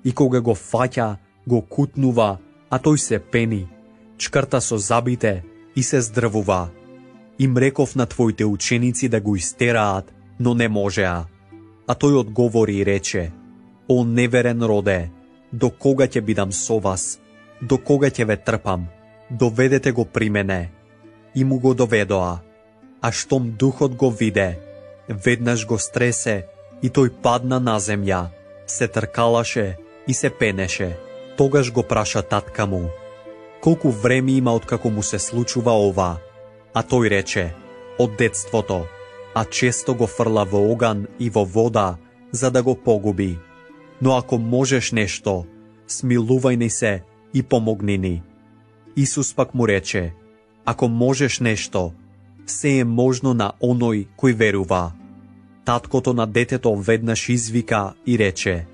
и кога го фаќа, го кутнува, а тој се пени, чкрта со забите и се здрвува. Им реков на твоите ученици да го истераат, но не можеа. А тој одговори и рече: О неверен роде, до кога ќе бидам со вас? До кога ќе ве трпам? Доведете го при мене. И му го доведоа. А штом духот го виде, веднаш го стресе и тој падна на земја, се тркалаше и се пенеше. Тогаш го праша татка му: колку време има откако му се случува ова? А тој рече: од детството, а често го фрла во оган и во вода, за да го погуби. Но ако можеш нешто, смилувај ни се и помогни ни. Исус пак му рече: ако можеш нешто, се е можно на оној кој верува. Таткото на детето веднаш извика и рече: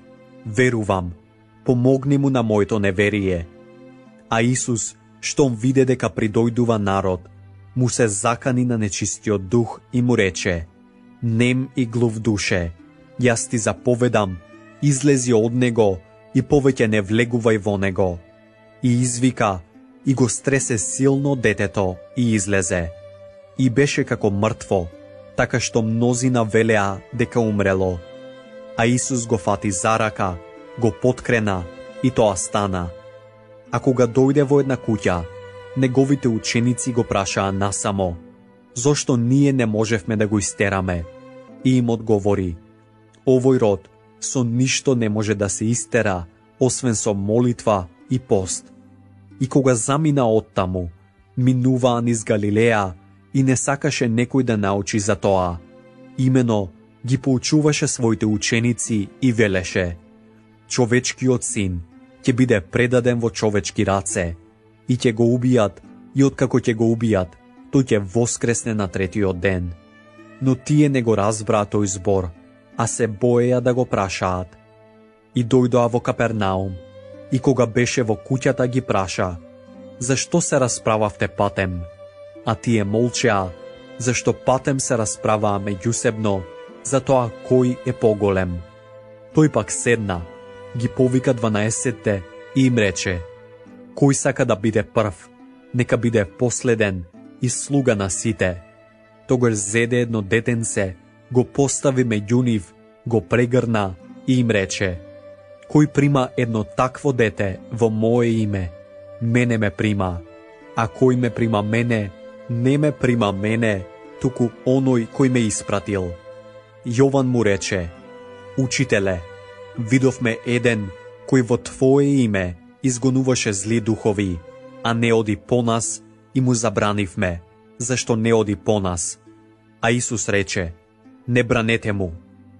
верувам, помогни му на моето неверие. А Исус, штом виде дека придојдува народ, му се закани на нечистиот дух и му рече: нем и глув душе, јас ти заповедам, излези од него и повеќе не влегувај во него. И извика, и го стресе силно детето и излезе. И беше како мртво, така што мнозина велеа дека умрело. А Исус го фати за рака, го поткрена и тоа стана. А кога дојде во една куќа, неговите ученици го прашаа насамо, зошто ние не можевме да го истераме? И им одговори, овој род со ништо не може да се истера, освен со молитва и пост. И кога замина оттаму, минуваа низ Галилеја и не сакаше некој да научи за тоа. Имено ги поучуваше своите ученици и велеше, човечкиот син ќе биде предаден во човечки раце и ќе го убијат, и откако ќе го убијат, тој ќе воскресне на третиот ден. Но тие не го разбраа тој збор, а се боеја да го прашаат. И дојдоа во Капернаум, и кога беше во куќата ги праша, зашто се расправавте патем? А тие молчеа, зашто патем се расправаа меѓусебно, за тоа кој е поголем. Тој пак седна, ги повика 12 и им рече, кој сака да биде прв, нека биде последен и слуга на сите. Тогаш зеде едно детенце, го постави меѓу нив, го прегрна и им рече, кој прима едно такво дете во мое име, мене ме прима, а кој ме прима мене, не ме прима мене, туку оној кој ме испратил. Јован му рече, учителе, видовме еден кој во твое име изгонуваше зли духови, а не оди по нас и му забранивме, зашто не оди по нас. А Исус рече, не бранете му,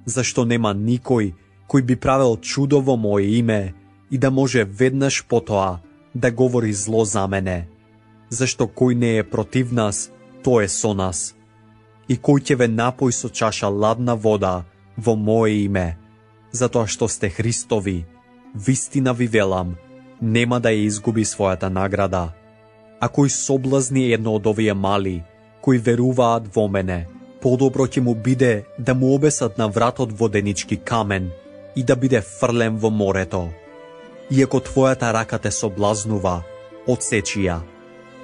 зашто нема никој кој би правил чудо во мое име и да може веднаш потоа да говори зло за мене, зашто кој не е против нас, тој е со нас. И кој ќе ве напои со чаша ладна вода во мое име, затоа што сте Христови, вистина ви велам, нема да ја изгуби својата награда. А кој соблазни едно од овие мали, кои веруваат во мене, подобро ќе му биде да му обесат на вратот воденички камен и да биде фрлен во морето. Иако твојата рака те соблазнува, отсечи ја.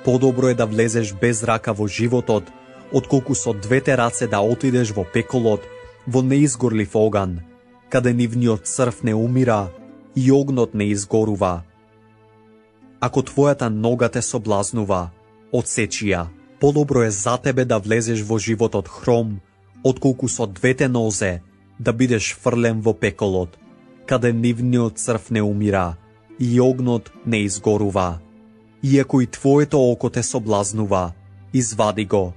Подобро е да влезеш без рака во животот, отколку со двете раце да отидеш во пеколот, во неизгорлив оган, каде нивниот црв не умира и огнот не изгорува. Ако твојата нога те соблазнува, отсечи ја. Подобро е за тебе да влезеш во животот хром, отколку со двете нозе да бидеш фрлен во пеколот, каде нивниот црв не умира и огнот не изгорува. Иако и твоето око те соблазнува, извади го.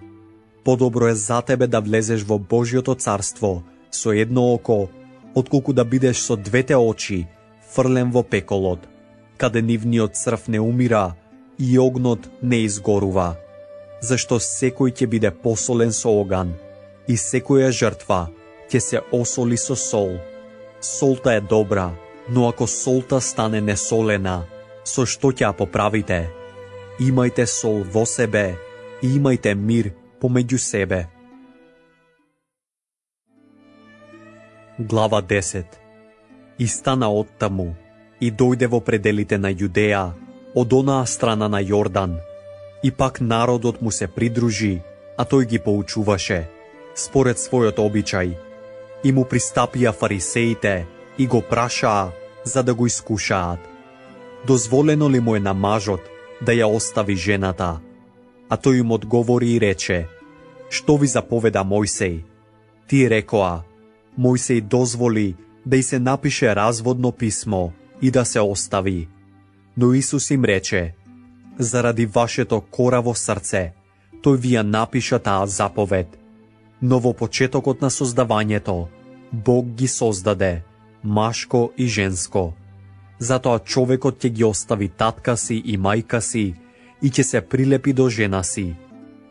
Подобро е за тебе да влезеш во Божјото царство со едно око, отколку да бидеш со двете очи фрлен во пеколот, каде нивниот црв не умира и огнот не изгорува. Зашто секој ќе биде посолен со оган и секоја жртва ќе се осоли со сол. Солта е добра, но ако солта стане несолена, со што ќе ја поправите? Имајте сол во себе и имајте мир помеѓу себе. Глава 10. И стана оттаму и дојде во пределите на Јудеја, од онаа страна на Јордан. И пак народот му се придружи, а тој ги поучуваше, според својот обичај. И му пристапија фарисеите и го прашаа за да го искушаат. Дозволено ли му е на мажот да ја остави жената? А тој им одговори и рече, што ви заповеда Мојсей? Тие рекоа, Мојсей дозволи да и се напише разводно писмо и да се остави. Но Исус им рече, заради вашето кораво срце, тој ви ја напиша таа заповед. Но во почетокот на создавањето, Бог ги создаде, машко и женско. Затоа човекот ќе ги остави татка си и мајка си и ќе се прилепи до жена си.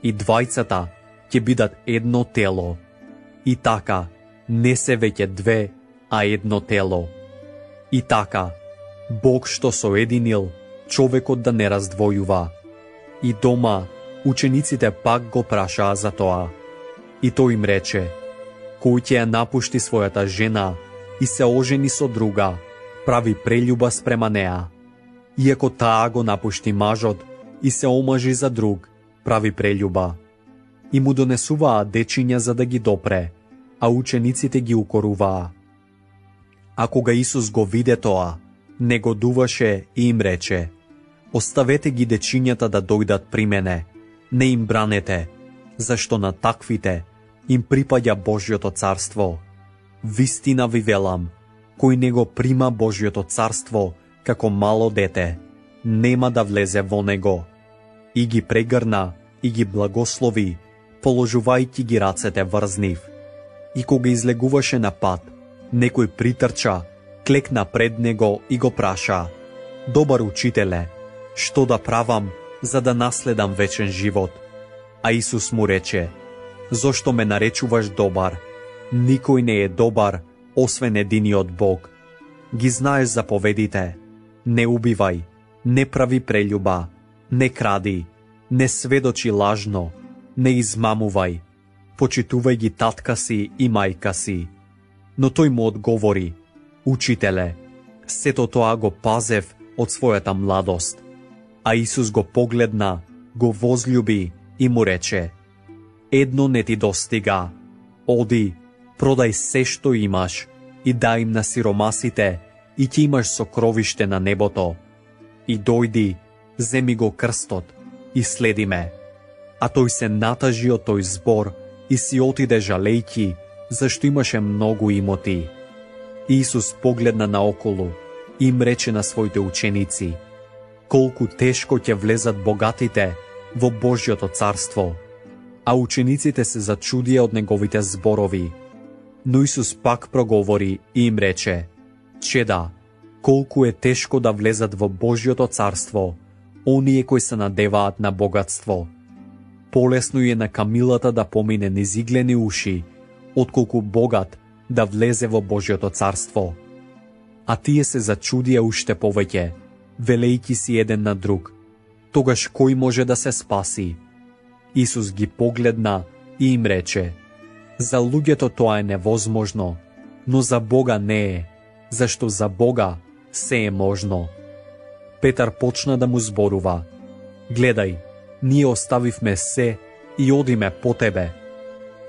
И двајцата ќе бидат едно тело. И така, не се веќе две, а едно тело. И така, Бог што соединил, човекот да не раздвојува. И дома, учениците пак го прашаа за тоа. И тој им рече, кој ќе ја напушти својата жена и се ожени со друга, прави прелюба спрема неа. Иако таа го напушти мажот и се омажи за друг, прави прелюба. И му донесуваа дечиња за да ги допре, а учениците ги укоруваа. А кога Исус го виде тоа, негодуваше и им рече: оставете ги дечињата да дојдат при мене, не им бранете, зашто на таквите им припаѓа Божјото царство. Вистина ви велам, кој не го прима Божјото царство како мало дете, нема да влезе во него. И ги прегрна и ги благослови, положувајќи ги рацете врз нив. И кога излегуваше на пат, некој притрча, клекна пред него и го праша: добар учителе, што да правам за да наследам вечен живот? А Исус му рече: зошто ме наречуваш добар? Никој не е добар, освен единиот Бог. Ги знаеш заповедите: не убивај, не прави прелюба, не кради, не сведочи лажно, не измамувај, почитувај ги татка си и мајка си. Но тој му одговори: учителе, сето тоа го пазев од својата младост. А Исус го погледна, го возлюби и му рече: едно не ти достига. Оди, продај се што имаш и дај им на сиромасите и ќе имаш сокровиште на небото. И дојди, земи го крстот и следи ме. А тој се натажи од тој збор и си отиде жалејки, зашто имаше многу имоти. Исус погледна наоколу и им рече на своите ученици: колку тешко ќе влезат богатите во Божјото царство. А учениците се зачудија од неговите зборови. Но Исус пак проговори и им рече: чеда, колку е тешко да влезат во Божјото царство оние кои се надеваат на богатство. Полесно е на камилата да помине низ иглени уши, отколку богат да влезе во Божјото царство. А тие се зачудија уште повеќе, велејки си еден на друг: тогаш кој може да се спаси? Исус ги погледна и им рече: за луѓето тоа е невозможно, но за Бога не е, зашто за Бога се е можно. Петар почна да му зборува: гледај, ние оставивме се и одиме по тебе.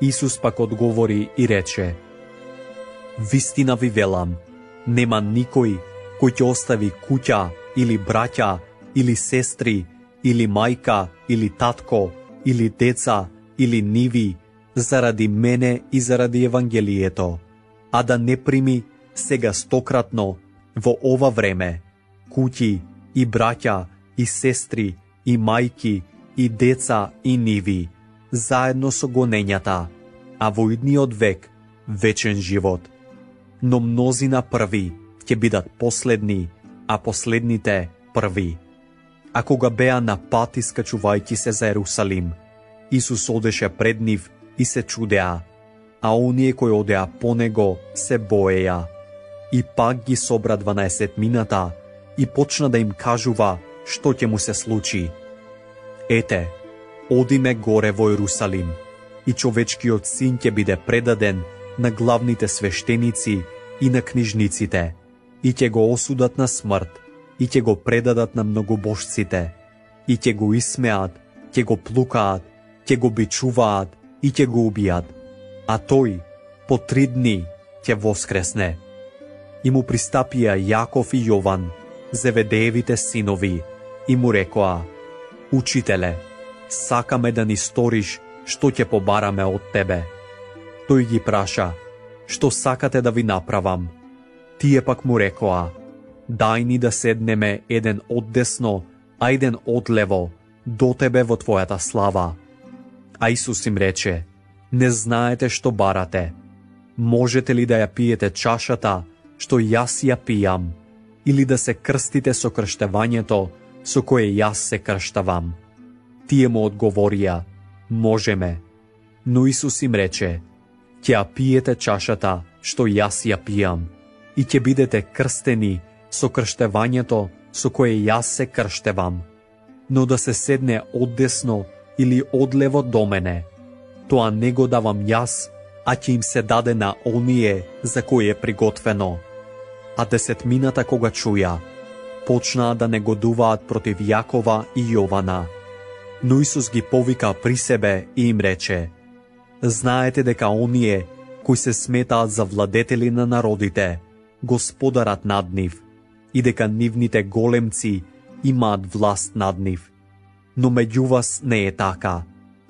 Исус пак одговори и рече: вистина ви велам, нема никој кој ќе остави куќа или браќа или сестри или мајка или татко или деца или ниви заради мене и заради Евангелието, а да не прими сега стократно во ова време куќи и браќа и сестри и мајки и деца и ниви, заедно со гонењата, а во идниот век вечен живот. Но мнозина први ќе бидат последни, а последните први. А кога беа на пат искачувајќи се за Ерусалим, Исус одеше пред нив и се чудеа, а оние кои одеа по него се боеја. И пак ги собра 12 и почна да им кажува што ќе му се случи. Ете, одиме горе во Ерусалим, и човечкиот син ќе биде предаден на главните свештеници и на книжниците, и ќе го осудат на смрт, и ќе го предадат на многобожците, и ќе го исмеат, ќе го плукаат, ќе го бичуваат и ќе го убијат, а тој по 3 дни ќе воскресне. И му пристапија Јаков и Јован, Зеведеевите синови, и му рекоа: учителе, сакаме да ни сториш што ќе побараме од тебе. Тој ги праша: што сакате да ви направам? Тие пак му рекоа: дај ни да седнеме еден оддесно, а еден одлево, до тебе во твојата слава. А Исус им рече: не знаете што барате. Можете ли да ја пиете чашата што јас ја пијам, или да се крстите со крштевањето со кое јас се крштавам? Тие му одговорија: можеме. Но Исус им рече: ќе ја пиете чашата што јас ја пијам и ќе бидете крстени со крштевањето со кое јас се крштевам, но да се седне оддесно или одлево до мене, тоа не го давам јас, а ќе им се даде на оние за кои е приготвено. А десетмината кога чуја, почнаа да негодуваат против Јакова и Јована. Но Исус ги повика при себе и им рече: знаете дека оние кои се сметаат за владетели на народите, господарат над нив, и дека нивните големци имаат власт над нив. Но меѓу вас не е така.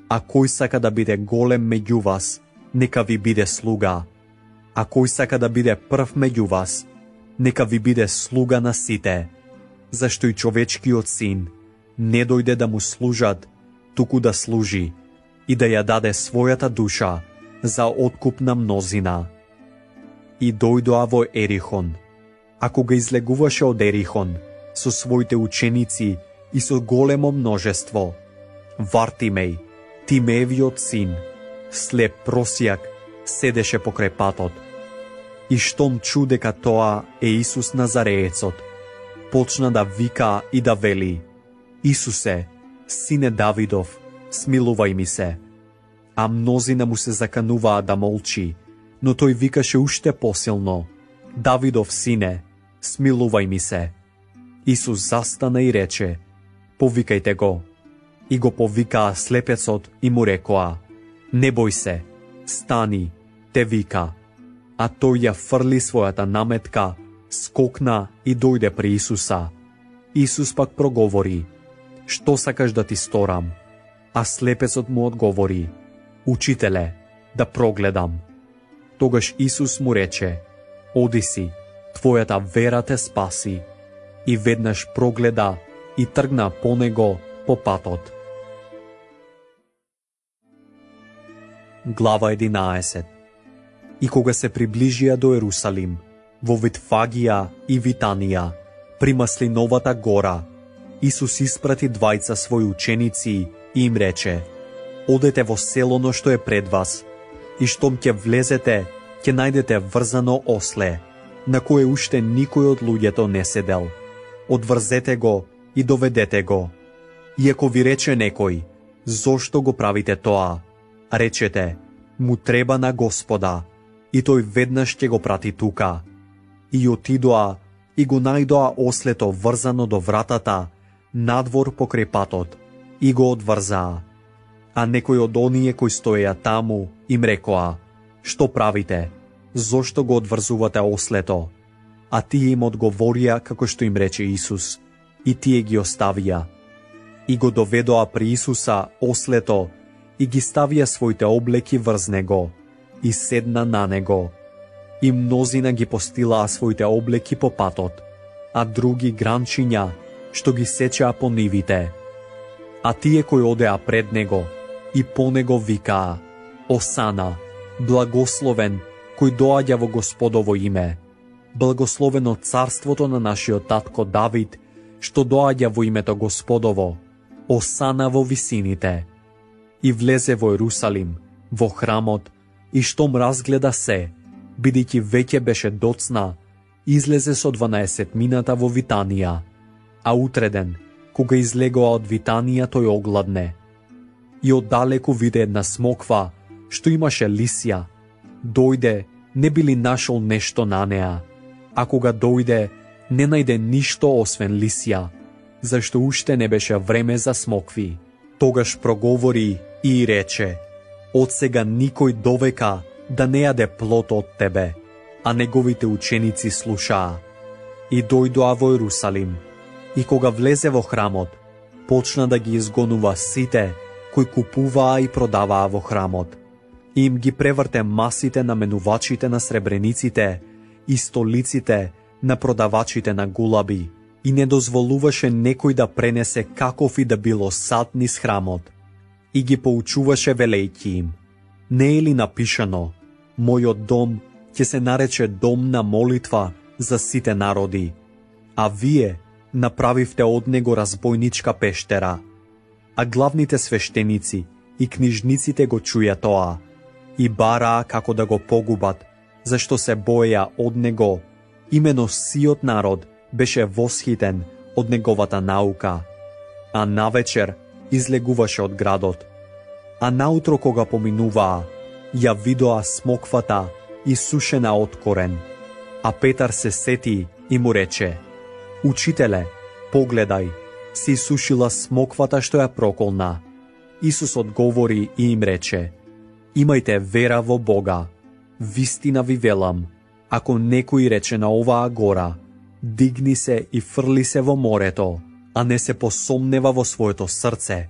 А кој сака да биде голем меѓу вас, нека ви биде слуга. А кој сака да биде прв меѓу вас, нека ви биде слуга на сите. Зашто и човечкиот син не дојде да му служат, туку да служи и да ја даде својата душа за откуп на мнозина. И дојдоа во Ерихон. А кога излегуваше од Ерихон со своите ученици и со големо множество, Вартимеј, Тимеевиот син, слеп просјак, седеше покрај патот. И штом чу дека тоа е Исус Назареецот, почна да вика и да вели: Исусе, сине Давидов, смилувај ми се. А мнозина му се закануваа да молчи, но тој викаше уште посилно: Давидов сине, смилувај ми се. Исус застана и рече: повикајте го. И го повикаа слепецот и му рекоа: не бој се, стани, те вика. А тој ја фрли својата наметка, скокна и дојде при Исуса. Исус пак проговори: што сакаш да ти сторам? А слепецот му одговори: Учителе, да прогледам. Тогаш Исус му рече: оди си, твојата вера те спаси. И веднаш прогледа и тргна по него по патот. Глава 11. И кога се приближија до Ерусалим, во Витфагија и Витанија, при Маслиновата гора, Исус испрати двајца своји ученици и им рече: одете во селото што е пред вас, и штом ќе влезете, ќе најдете врзано осле, на кое уште никој од луѓето не седел. Одврзете го и доведете го. И ако ви рече некој: зошто го правите тоа? Речете: му треба на Господа, и тој веднаш ќе го прати тука. И отидоа и го најдоа ослето врзано до вратата, надвор покрај патот, и го одврзаа. А некој од оние кои стоеја таму им рекоа: што правите? Зошто го одврзувате ослето? А тие им одговорија како што им рече Исус, и тие ги оставија. И го доведоа при Исуса ослето, и ги ставија своите облеки врз него, и седна на него. И мнозина ги постилаа своите облеки по патот, а други гранчиња, што ги сечаа по нивите. А тие кои одеа пред него и по него викаа: Осана, благословен кој доаѓа во Господово име, благословено царството на нашиот татко Давид, што доаѓа во името Господово, Осана во висините. И влезе во Ерусалим, во храмот, и штом разгледа се, бидејќи веќе беше доцна, излезе со 12-мината во Витанија. А утреден, кога излегоа од Витанија, тој огладне. И оддалеку виде една смоква, што имаше лисја. Дојде, не би ли нашол нешто на неа, а кога дојде, не најде ништо освен лисја, зашто уште не беше време за смокви. Тогаш проговори и рече: од сега никој довека да не јаде плод од тебе. А неговите ученици слушаа. И дојдоа во Ерусалим, и кога влезе во храмот, почна да ги изгонува сите кои купуваа и продаваа во храмот. И им ги преврте масите на менувачите на сребрениците и столиците на продавачите на гулаби, и не дозволуваше некој да пренесе каков и да било сад низ храмот. И ги поучуваше велејќи им: не е ли напишано: мојот дом ќе се нарече дом на молитва за сите народи, а вие направивте од него разбойничка пештера. А главните свештеници и книжниците го чуја тоа и бараа како да го погубат, зашто се боеја од него. Имено сиот народ беше восхитен од неговата наука. А навечер излегуваше од градот. А наутро кога поминуваа, ја видоа смоквата исушена од корен. А Петар се сети и му рече: Учителе, погледај, си исушила смоквата што ја проколна. Исус одговори и им рече: Имајте вера во Бога. Вистина ви велам, ако некој рече на оваа гора: Дигни се и фрли се во морето, а не се посомнева во своето срце,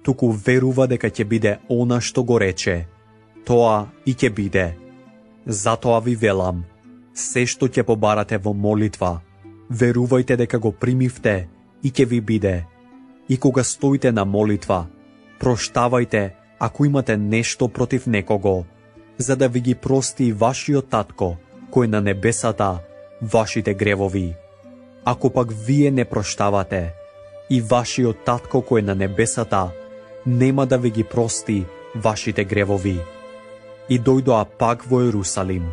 туку верува дека ќе биде она што го рече, тоа и ќе биде. Затоа ви велам, се што ќе побарате во молитва, верувајте дека го примивте и ќе ви биде. И кога стоите на молитва, проштавајте ако имате нешто против некого, за да ви ги прости и вашиот татко, кој на небесата, вашите гревови. Ако пак вие не проштавате, и вашиот татко кој на небесата нема да ви ги прости вашите гревови. И дојдоа пак во Ерусалим.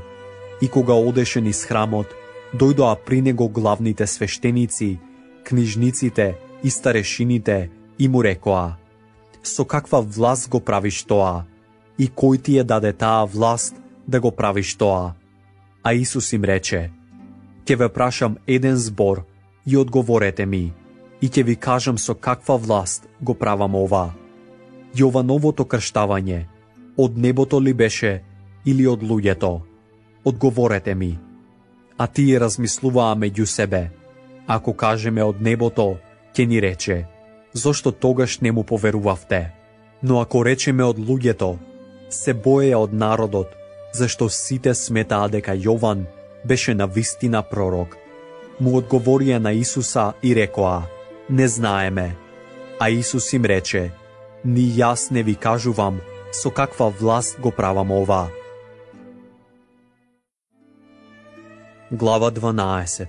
И кога одеше низ храмот, дојдоа при него главните свештеници, книжниците и старешините и му рекоа: Со каква власт го правиш тоа? И кој ти ја даде таа власт да го правиш тоа? А Исус им рече: Ќе ве прашам еден збор и одговорете ми, и ќе ви кажам со каква власт го правам ова. Јовановото крштавање, од небото ли беше или од луѓето? Одговорете ми. А тие размислуваа меѓу себе. Ако кажеме од небото, ќе ни рече: Зошто тогаш не му поверувавте? Но ако речеме од луѓето, се боеја од народот, зашто сите сметаа дека Јован беше навистина пророк. Му одговорија на Исуса и рекоа: Не знаеме. А Исус им рече: Ни јас не ви кажувам со каква власт го правам ова. Глава 12.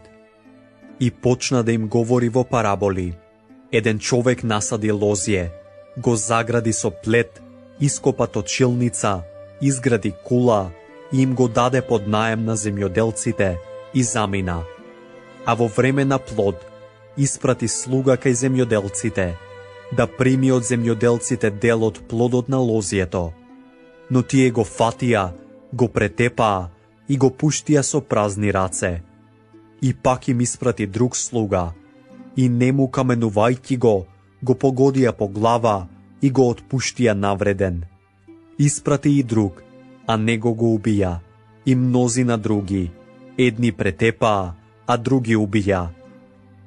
И почна да им говори во параболи. Еден човек насади лозје, го загради со плет, ископа точилница, изгради кула и им го даде под наем на земјоделците и замина. А во време на плод испрати слуга кај земјоделците, да прими од земјоделците дел од плодот на лозјето. Но тие го фатија, го претепаа и го пуштија со празни раце. И пак им испрати друг слуга, и нему каменувајќи го погодија по глава и го отпуштија навреден. Испрати и друг, а него го убија, и мнозина други, едни претепаа, а други убија.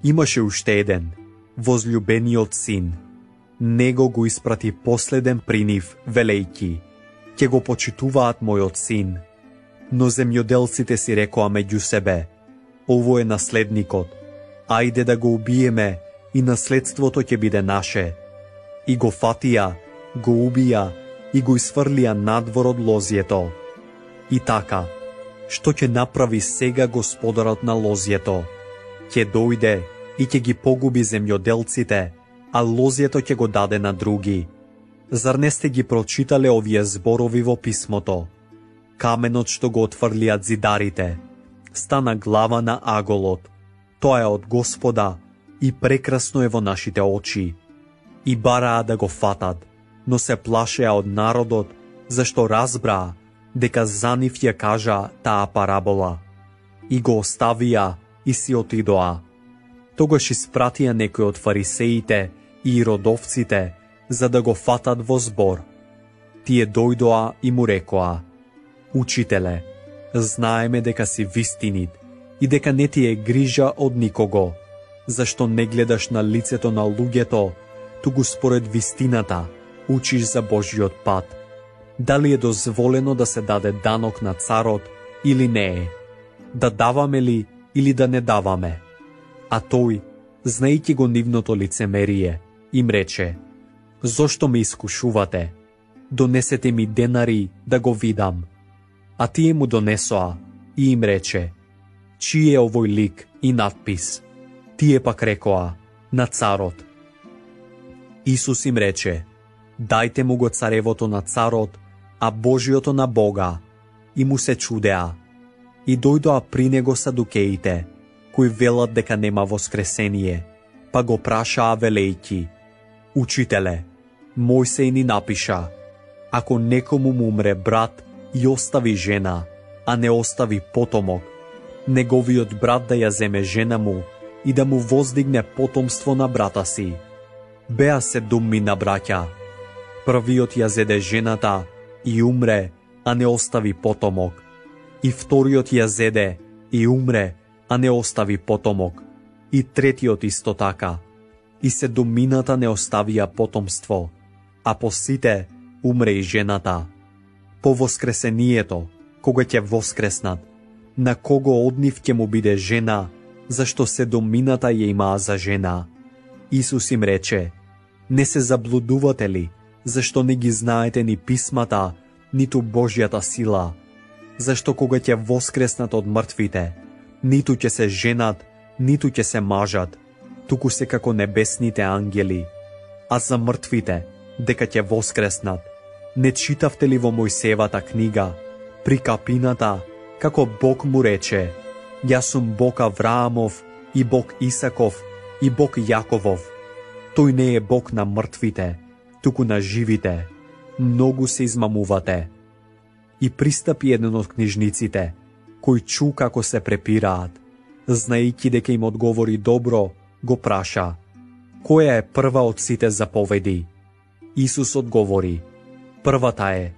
Имаше уште еден, возлюбениот син. Него го испрати последен при нив, велејќи: Ќе го почитуваат мојот син. Но земјоделците си рекоа меѓу себе: Ово е наследникот, ајде да го убиеме и наследството ќе биде наше. И го фатија, го убија и го isfрлија надвор од лозјето. И така, што ќе направи сега господарот на лозјето? Ќе дојде и ќе ги погуби земјоделците, а лозјето ќе го даде на други. Зар не сте ги прочитале овие зборови во писмото? Каменот што го отфрлиат зидарите стана глава на аголот. Тоа е од Господа и прекрасно е во нашите очи. И бараа да го фатат, но се плашеа од народот, зашто разбраа дека за нив ја кажа таа парабола. И го оставија и си отидоа. Тогаш испратија некои од фарисеите и иродовците за да го фатат во збор. Тие дојдоа и му рекоа: Учителе, знаеме дека си вистинит и дека не ти е грижа од никого, зашто не гледаш на лицето на луѓето, туку според вистината учиш за Божиот пат. Дали е дозволено да се даде данок на царот или не е? Да даваме ли или да не даваме? А тој, знаејќи го нивното лицемерие, им рече: Зошто ме искушувате? Донесете ми денари да го видам. А тие му донесоа и им рече: Чиј е овој лик и надпис? Тие пак рекоа: На царот. Исус им рече: Дајте му го царевото на царот, а Божиото на Бога. И му се чудеа. И дојдоа при него садукеите, кои велат дека нема воскресение, па го прашаа велејќи: Учителе, Мојсеј ни напиша: Ако некому му умре брат и остави жена, а не остави потомок, неговиот брат да ја земе жена му и да му воздигне потомство на брата си. Беа 7 на браќа. Првиот ја зеде жената и умре, а не остави потомок. И вториот ја зеде и умре, а не остави потомок. И третиот исто така. И 7 не оставија потомство, а по сите умре и жената. По воскресението, кога ќе воскреснат, на кого од нив ќе му биде жена, зашто 7 ја имаа за жена? Исус им рече: не се заблудувате ли, зашто не ги знаете ни писмата, ниту Божјата сила? Зашто кога ќе воскреснат од мртвите, ниту ќе се женат, ниту ќе се мажат, туку се како небесните ангели. А за мртвите, дека ќе воскреснат, не читавте ли во Мојсеевата книга, при капината, како Бог му рече: јас сум Бог Авраамов, и Бог Исаков, и Бог Јаковов. Тој не е Бог на мртвите, туку на живите. Многу се измамувате. И пристапи еден од книжниците, кој чу како се препираат, знаејќи дека им одговори добро, го праша: која е прва од сите заповеди? Исус одговори: првата е: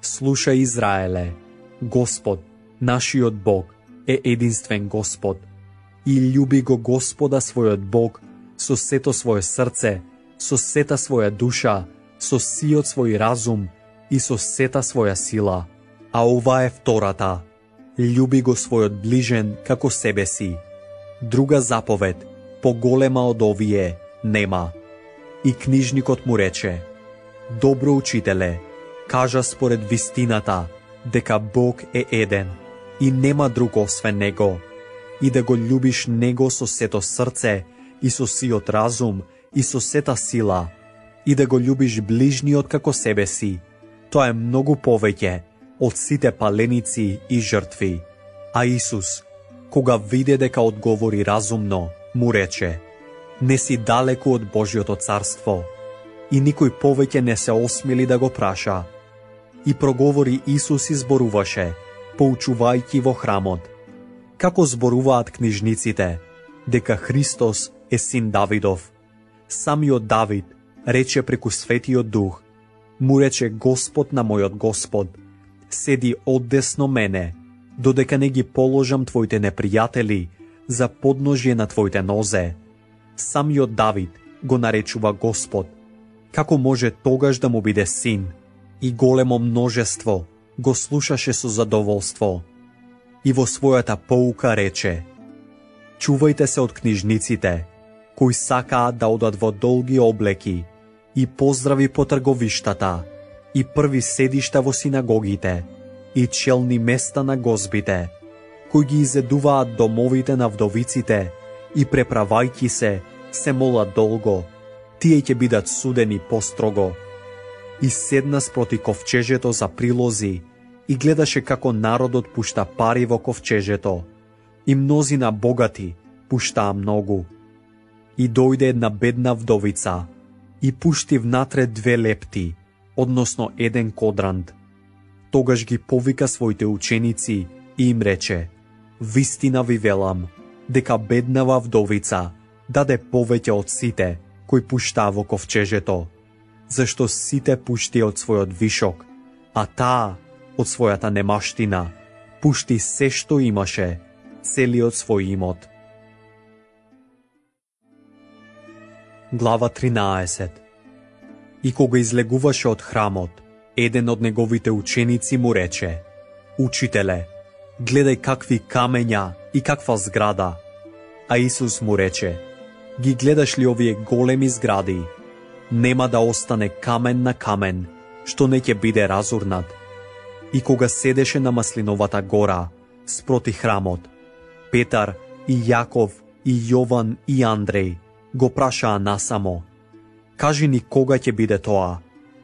слушај, Израеле, Господ, нашиот Бог е единствен Господ, и љуби го Господа својот Бог со сето свое срце, со сета своја душа, со сиот свој разум и со сета своја сила. А ова е втората: љуби го својот ближен како себе си. Друга заповед, поголема од овие, нема. И книжникот му рече: добро учителе, кажа според вистината дека Бог е еден и нема друг освен Него, и да го љубиш Него со сето срце и со сиот разум и со сета сила, и да го љубиш ближниот како себе си. Тоа е многу повеќе од сите паленици и жртви. А Исус, кога виде дека одговори разумно, му рече: не си далеку од Божјото царство. И никој повеќе не се осмели да го праша. И проговори Исус и зборуваше, поучувајќи во храмот. Како зборуваат книжниците дека Христос е син Давидов? Самиот Давид рече преку Светиот Дух: му рече Господ на мојот Господ: седи одесно мене, додека не ги положам твоите непријатели за подножје на твоите нозе. Самиот Давид го наречува Господ. Како може тогаш да му биде син? И големо множество го слушаше со задоволство. И во својата поука рече: чувајте се од книжниците, кои сакаат да одат во долги облеки и поздрави по трговиштата, и први седишта во синагогите, и челни места на гозбите, кои ги изедуваат домовите на вдовиците и преправајќи се молат долго, тие ќе бидат судени построго. И седна спроти ковчежето за прилози и гледаше како народот пушта пари во ковчежето, и мнозина богати пуштаа многу. И дојде една бедна вдовица и пушти внатре 2 лепти, односно 1 кодрант. Тогаш ги повика своите ученици и им рече: вистина ви велам, дека беднава вдовица даде повеќе од сите кои пуштаа во ковчежето, зашто сите пушти од својот вишок, а таа од својата немаштина пушти се што имаше, целиот свој имот. Глава 13. И кога излегуваше од храмот, еден од неговите ученици му рече: учителе, гледај какви камења и каква зграда. А Исус му рече: ги гледаш ли овие големи згради? Нема да остане камен на камен, што не ќе биде разурнат. И кога седеше на Маслиновата гора, спроти храмот, Петар и Јаков и Јован и Андреј го прашаа насамо: кажи ни кога ќе биде тоа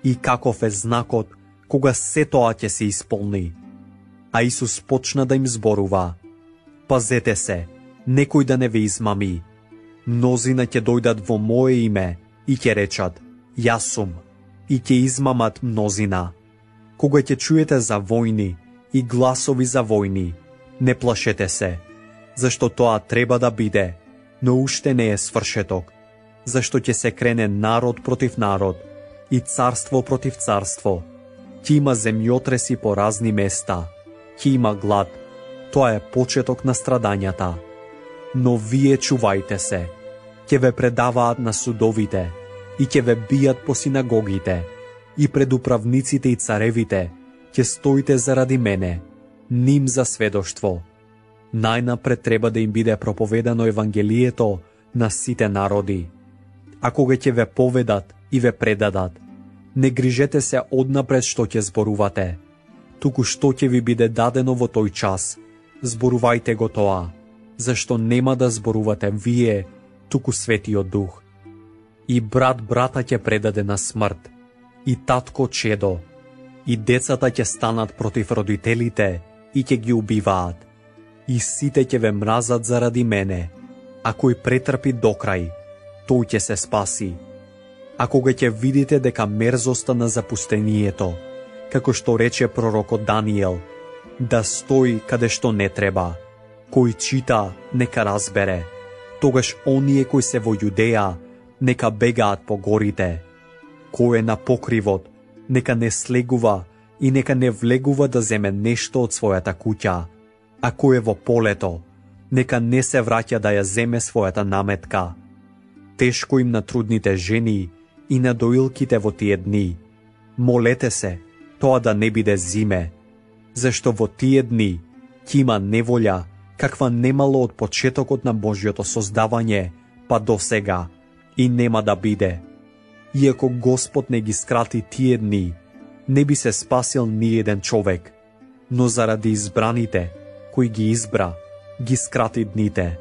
и каков е знакот кога се тоа ќе се исполни. А Исус почна да им зборува: пазете се, некој да не ве измами. Мнозина ќе дојдат во мое име и ќе речат: јас сум, и ќе измамат мнозина. Кога ќе чуете за војни и гласови за војни, не плашете се, зашто тоа треба да биде, но уште не е свршеток, зашто ќе се крене народ против народ и царство против царство. Ќе има земјотреси по разни места, ќе има глад, тоа е почеток на страдањата. Но вие чувајте се, ќе ве предаваат на судовите и ќе ве бијат по синагогите и пред управниците и царевите ќе стоите заради мене, ним за сведоштво. Најнапред треба да им биде проповедано Евангелието на сите народи. А кога ќе ве поведат и ве предадат, не грижете се однапред што ќе зборувате, туку што ќе ви биде дадено во тој час, зборувајте го тоа, зашто нема да зборувате вие, туку Светиот Дух. И брат брата ќе предаде на смрт, и татко чедо, и децата ќе станат против родителите и ќе ги убиваат, и сите ќе ве мразат заради мене, а кој претрпи до крај, тој ќе се спаси. А кога ќе видите дека мерзоста на запустението, како што рече пророкот Даниел, да стои каде што не треба, кој чита, нека разбере, тогаш оние кои се во Јудеја, нека бегаат по горите. Кој е на покривот, нека не слегува и нека не влегува да земе нешто од својата куќа, а кој е во полето, нека не се враќа да ја земе својата наметка. Тешко им на трудните жени и на доилките во тие дни. Молете се, тоа да не биде зиме, зашто во тие дни ќе има неволја, каква немало од почетокот на Божјото создавање, па до сега, и нема да биде. Иако Господ не ги скрати тие дни, не би се спасил ни еден човек, но заради избраните, кои ги избра, ги скрати дните.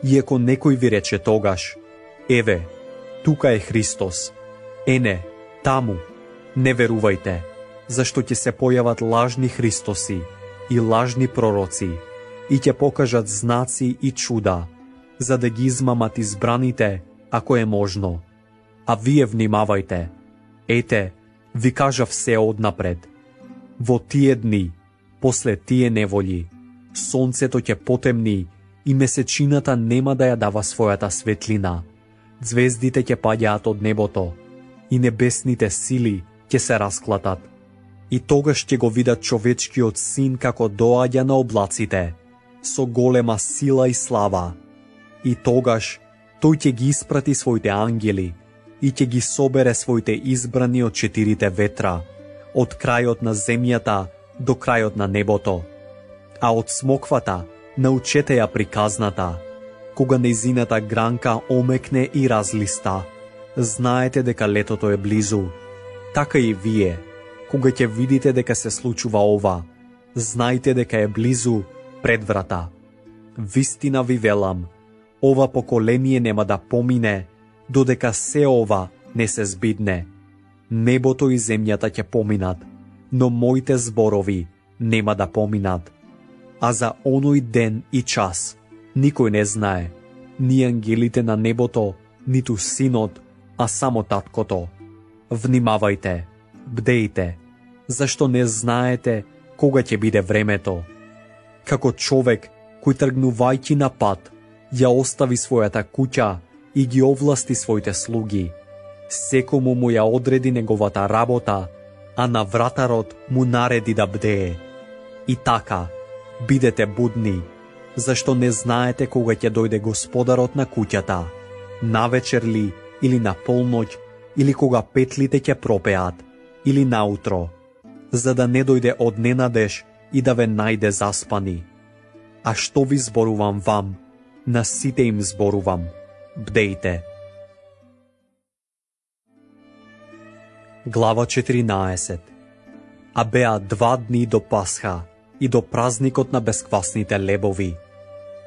Иако некој ви рече тогаш, еве, тука е Христос, ене, таму, не верувајте, зашто ќе се појават лажни Христоси и лажни пророци и ќе покажат знаци и чуда, за да ги измамат избраните, ако е можно. А вие внимавајте, ете, ви кажав се однапред. Во тие дни, после тие неволји, сонцето ќе потемни и месечината нема да ја дава својата светлина, звездите ќе паѓаат од небото и небесните сили ќе се расклатат. И тогаш ќе го видат човечкиот син како доаѓа на облаците, со голема сила и слава. И тогаш тој ќе ги испрати своите ангели и ќе ги собере своите избрани од четирите ветра, од крајот на земјата до крајот на небото. А од смоквата научете ја приказната, кога нејзината гранка омекне и разлиста, знаете дека летото е близу. Така и вие, кога ќе видите дека се случува ова, знајте дека е близу пред врата. Вистина ви велам, ова поколение нема да помине, додека се ова не се збидне. Небото и земјата ќе поминат, но моите зборови нема да поминат. А за оној ден и час никој не знае, ни ангелите на небото, ниту синот, а само таткото. Внимавајте, бдејте, зашто не знаете кога ќе биде времето. Како човек кој тргнувајќи на пат, ја остави својата куќа и ги овласти своите слуги. Секому му ја одреди неговата работа, а на вратарот му нареди да бдее. И така, бидете будни, зашто не знаете кога ќе дојде господарот на куќата, навечер ли или на полноќ, или кога петлите ќе пропеат, или наутро, за да не дојде од ненадеж и да ве најде заспани. А што ви зборувам вам, на сите им зборувам, бдејте. Глава 14. А беа 2 дни до Пасха и до празникот на бесквасните лебови.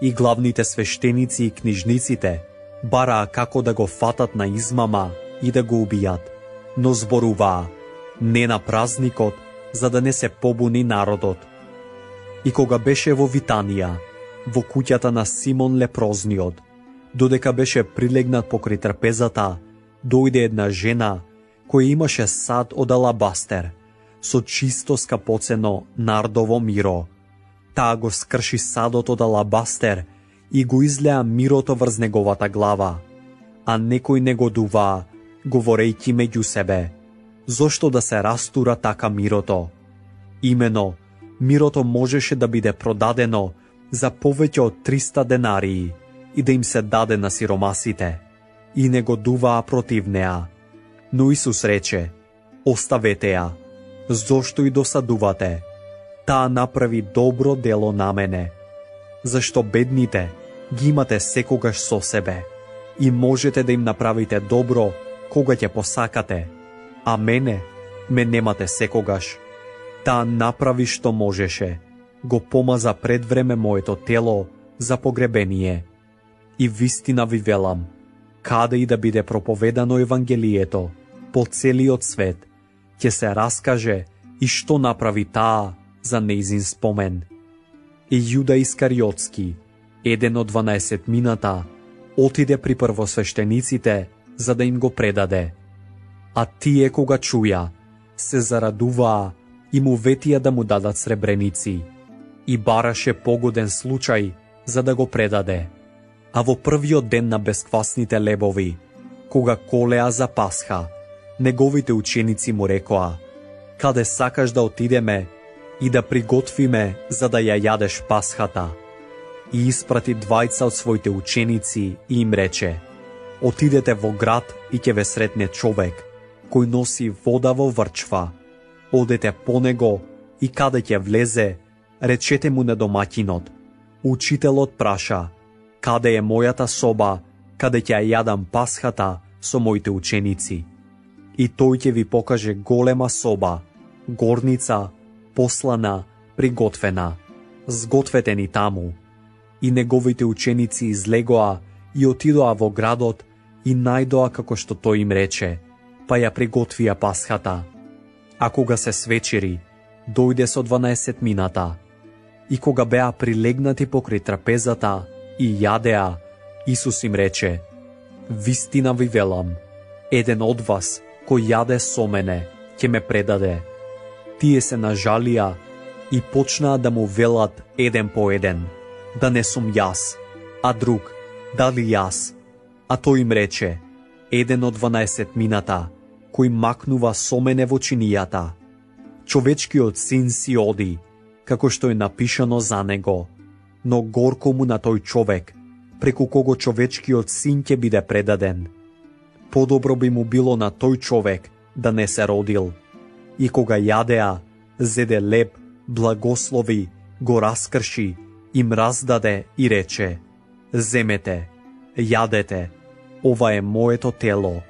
И главните свештеници и книжниците бараа како да го фатат на измама и да го убијат, но зборуваа не на празникот, за да не се побуни народот. И кога беше во Витанија, во куќата на Симон лепрозниот, додека беше прилегнат покрај трпезата, дојде една жена која имаше сад од алабастер, со чисто скапоцено нардово миро. Таа го скрши садот од алабастер и го излеа мирото врз неговата глава. А некои негодуваа, говорејќи меѓу себе: зошто да се растура така мирото? Имено, мирото можеше да биде продадено за повеќе од 300 денарии и да им се даде на сиромасите. И негодуваа против неа. Но Исус рече: оставете ја, зошто и досадувате? Таа направи добро дело на мене. Зашто бедните ги имате секогаш со себе и можете да им направите добро кога ќе посакате, а мене ме немате секогаш. Таа направи што можеше, го помаза пред време моето тело за погребение. И вистина ви велам, каде и да биде проповедано Евангелието по целиот свет, ќе се раскаже и што направи таа за нејзин спомен. И Јуда Искариотски, еден од 12-мината, отиде при првосвештениците за да им го предаде. А тие кога чуја, се зарадуваа и му ветија да му дадат сребреници. И бараше погоден случај за да го предаде. А во првиот ден на бесквасните лебови, кога колеа за Пасха, неговите ученици му рекоа: каде сакаш да отидеме и да приготвиме за да ја јадеш Пасхата? И испрати двајца од своите ученици и им рече: отидете во град и ќе ве сретне човек кој носи вода во врчва. Одете по него и каде ќе влезе, речете му на домаќинот: учителот праша: каде е мојата соба, каде ќе ја јадам Пасхата со моите ученици? И тој ќе ви покаже голема соба, горница, послана, приготвена. Сгответе ни таму. И неговите ученици излегоа и отидоа во градот и најдоа како што тој им рече, па ја приготвија Пасхата. А кога се свечери, дојде со 12-мината. И кога беа прилегнати покрај трапезата и јадеа, Исус им рече: вистина ви велам, еден од вас кој јаде со мене, ќе ме предаде. Тие се нажалија и почнаа да му велат еден по еден: да не сум јас, а друг: дали јас? А тој им рече: еден од 12-мината, кој макнува со мене во чинијата. Човечкиот син си оди, како што е напишано за него, но горко му на тој човек, преку кого човечкиот син ќе биде предаден. Подобро би му било на тој човек да не се родил. И кога јадеа, зеде леб, благослови, го раскрши, им раздаде и рече: земете, јадете, ова е моето тело.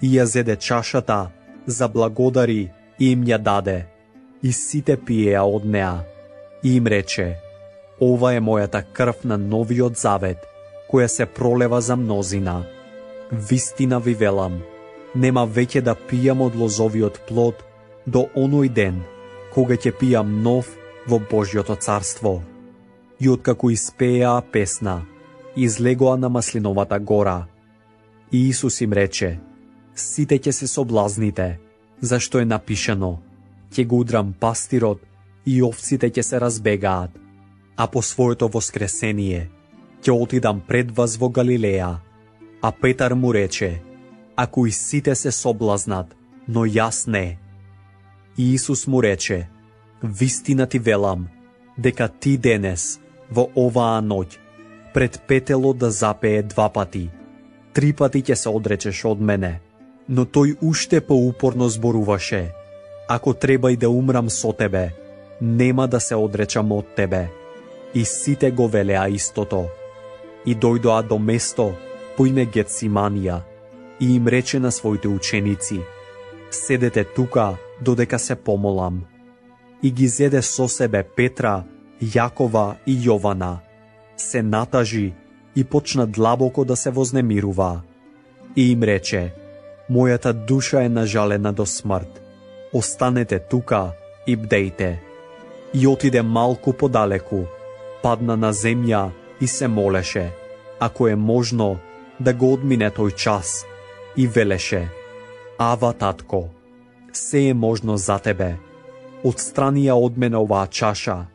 И ја зеде чашата, заблагодари и им ја даде. И сите пиеа од неа. И им рече: ова е мојата крв на новиот завет, која се пролева за мнозина. Вистина ви велам, нема веќе да пијам од лозовиот плод до оној ден, кога ќе пијам нов во Божјото царство. И откако испеа песна, излегоа на Маслиновата гора. И Исус им рече: сите ќе се соблазните, зашто е напишано: ќе го удрам пастирот и овците ќе се разбегаат. А по своето воскресение ќе отидам пред вас во Галилеја. А Петар му рече: ако и сите се соблазнат, но јас не. И Исус му рече: вистина ти велам, дека ти денес, во оваа ноќ, пред петело да запее 2 пати, 3 пати ќе се одречеш од мене. Но тој уште поупорно зборуваше: ако треба и да умрам со тебе, нема да се одречам од тебе. И сите го велеа истото. И дојдоа до место по име Гетсиманија и им рече на своите ученици: седете тука додека се помолам. И ги зеде со себе Петра, Јакова и Јована. Се натажи и почна длабоко да се вознемирува. И им рече: мојата душа е нажалена до смрт. Останете тука и бдејте. И отиде малку подалеку, падна на земја и се молеше, ако е можно, да го одмине тој час, и велеше: Ава, татко, се е можно за тебе, отстрани ја од мене оваа чаша,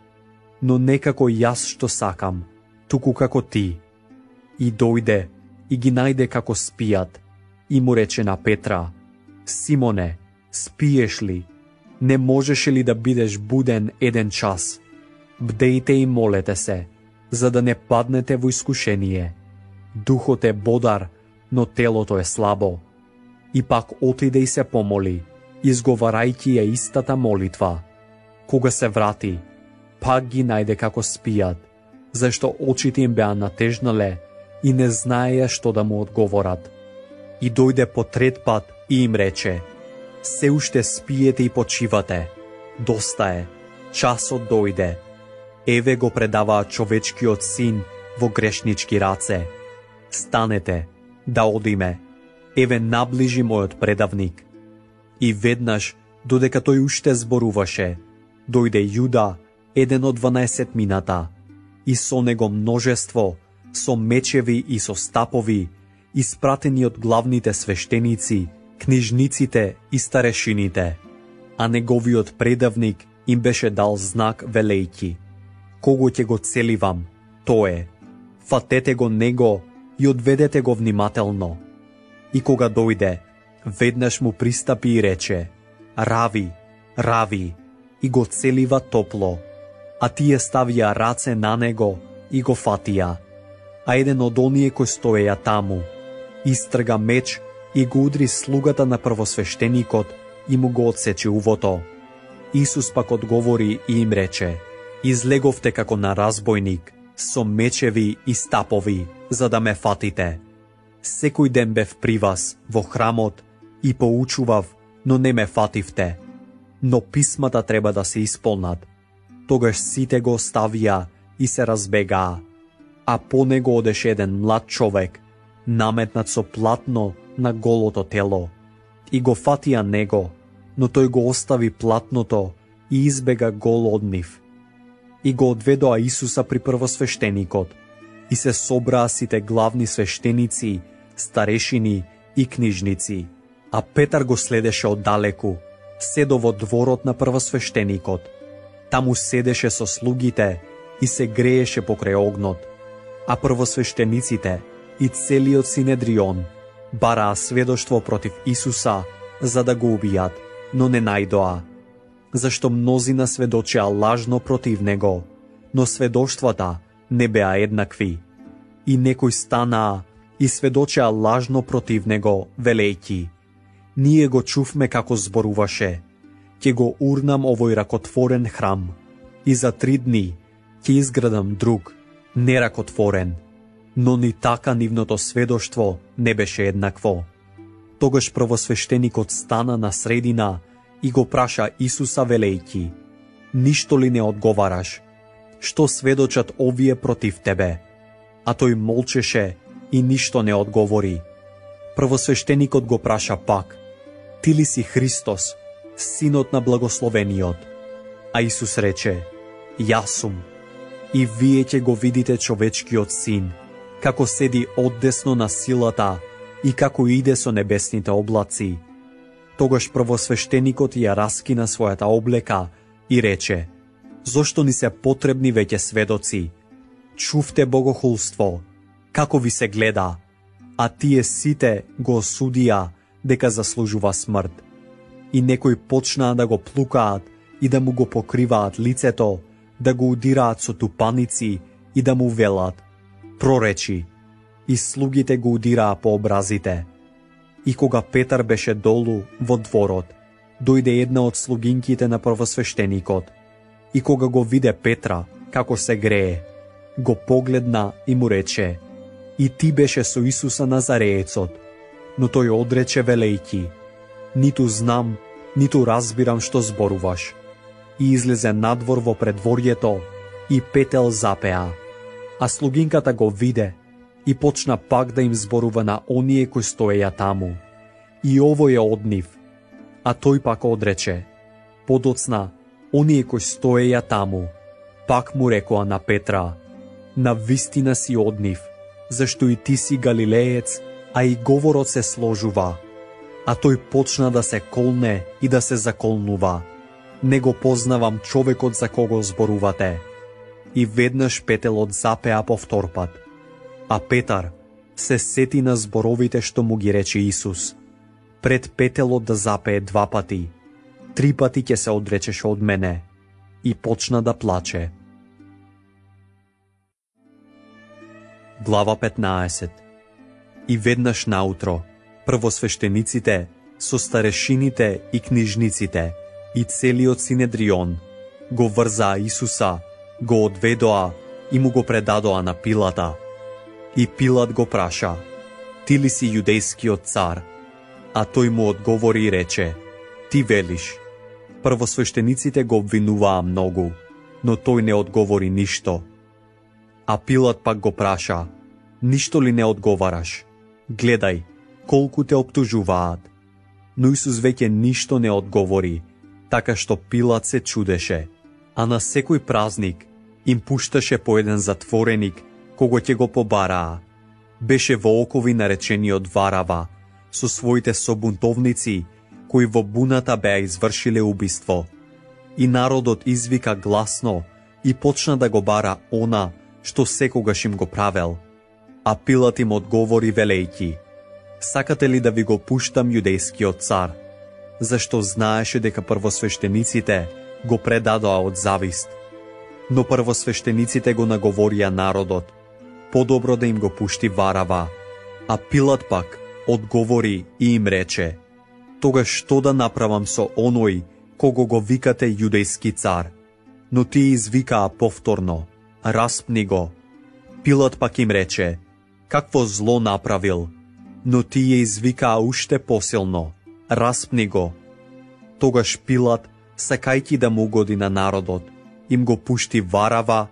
но не како јас што сакам, туку како ти. И дојде и ги најде како спијат, и му рече на Петра: Симоне, спиеш ли? Не можеше ли да бидеш буден 1 час? Бдејте и молете се, за да не паднете во искушение. Духот е бодар, но телото е слабо. И пак отиде и се помоли, изговарајќи ја истата молитва. Кога се врати, пак ги најде како спијат, зашто очите им беа натежнале и не знаеја што да му одговорат. И дојде по 3 пат и им рече: Се уште спиете и почивате. Доста е, часот дојде. Еве го предаваа човечкиот син во грешнички раце. Станете, да одиме. Еве наближи мојот предавник. И веднаш, додека тој уште зборуваше, дојде Јуда, еден од 12 мината, и со него множество, со мечеви и со стапови, испратени од главните свештеници, книжниците и старешините. А неговиот предавник им беше дал знак велејќи: Кого ќе го целивам, тоа е. Фатете го него и одведете го внимателно. И кога дојде, веднаш му пристапи и рече: Рави, рави, и го целива топло. А тие ставија раце на него и го фатија. А еден од оние кои стоеја таму истрга меч и го удри слугата на првосвештеникот и му го одсече увото. Исус пак одговори и им рече: Излеговте како на разбойник, со мечеви и стапови, за да ме фатите. Секој ден бев при вас во храмот и поучував, но не ме фативте. Но писмата треба да се исполнат. Тогаш сите го оставија и се разбегаа. А по него одеше еден млад човек, наметнат со платно на голото тело. И го фатија него, но тој го остави платното и избега гол од нив. И го одведоа Исуса при првосвештеникот, и се собраа сите главни свештеници, старешини и книжници. А Петар го следеше оддалеку, седо во дворот на првосвештеникот. Таму седеше со слугите и се грееше покрај огнот. А првосвештениците и целиот Синедрион бараа сведоштво против Исуса за да го убијат, но не најдоа, зашто мнозина сведочеа лажно против него, но сведоштвата не беа еднакви. И некои станаа и сведочеа лажно против него, велејќи: Ние го чувме како зборуваше: Ќе го урнам овој ракотворен храм и за 3 дни ќе изградам друг, неракотворен. Но ни така нивното сведоштво не беше еднакво. Тогаш првосвештеникот стана на средина и го праша Исуса велејќи: Ништо ли не одговараш? Што сведочат овие против тебе? А тој молчеше и ништо не одговори. Првосвештеникот го праша пак: Ти ли си Христос, Синот на Благословениот? А Исус рече: Јас сум. И вие ќе го видите човечкиот син, како седи оддесно на силата и како иде со небесните облаци. Тогаш првосвештеникот ја раскина својата облека и рече: Зошто ни се потребни веќе сведоци? Чувте богохулство, како ви се гледа, а тие сите го осудија дека заслужува смрт. И некои почнаа да го плукаат и да му го покриваат лицето, да го удираат со тупаници и да му велат: Проречи. И слугите го удираа по образите. И кога Петар беше долу во дворот, дојде една од слугинките на првосвештеникот. И кога го виде Петра како се грее, го погледна и му рече: И ти беше со Исуса Назареецот. Но тој одрече велејќи: Ниту знам, ниту разбирам што зборуваш. И излезе надвор во предворјето и петел запеа. А слугинката го виде и почна пак да им зборува на оние кои стоеја таму: И ово е од нив. А тој пак одрече. Подоцна, оние кои стоеја таму пак му рекоа на Петра: Навистина си од нив, зашто и ти си галилеец, а и говорот се сложува. А тој почна да се колне и да се заколнува. Не го познавам човекот за кого зборувате. И веднаш петелот запеа повторпат. А Петар се сети на зборовите што му ги рече Исус. Пред петелот да запее 2 пати, 3 пати ќе се одречеш од мене. И почна да плаче. Глава 15. И веднаш наутро, првосвештениците, со старешините и книжниците, и целиот Синедрион, го врзаа Исуса, го одведоа и му го предадоа на Пилата. И Пилат го праша: ти ли си јудејскиот цар? А тој му одговори и рече: ти велиш. Првосвештениците го обвинуваа многу, но тој не одговори ништо. А Пилат пак го праша: ништо ли не одговараш? Гледај, колку те оптужуваат. Но Исус веќе ништо не одговори, така што Пилат се чудеше. А на секој празник им пушташе по еден затвореник, кого ќе го побараа. Беше во окови наречениот Варава, со своите собунтовници, кои во буната беа извршиле убиство. И народот извика гласно и почна да го бара она што секогаш им го правел. А Пилат им одговори велејќи: сакате ли да ви го пуштам јудејскиот цар? Зашто знаеше дека првосвештениците го предадоа од завист. Но првосвештениците го наговорија народот: подобро да им го пушти Варава. А Пилат пак одговори и им рече: тогаш што да направам со оној кого го викате јудејски цар? Но тие извикаа повторно: распни го. Пилат пак им рече: какво зло направил? Но тие извикаа уште посилно: распни го. Тогаш Пилат, сакајќи да му угоди на народот, им го пушти Варава,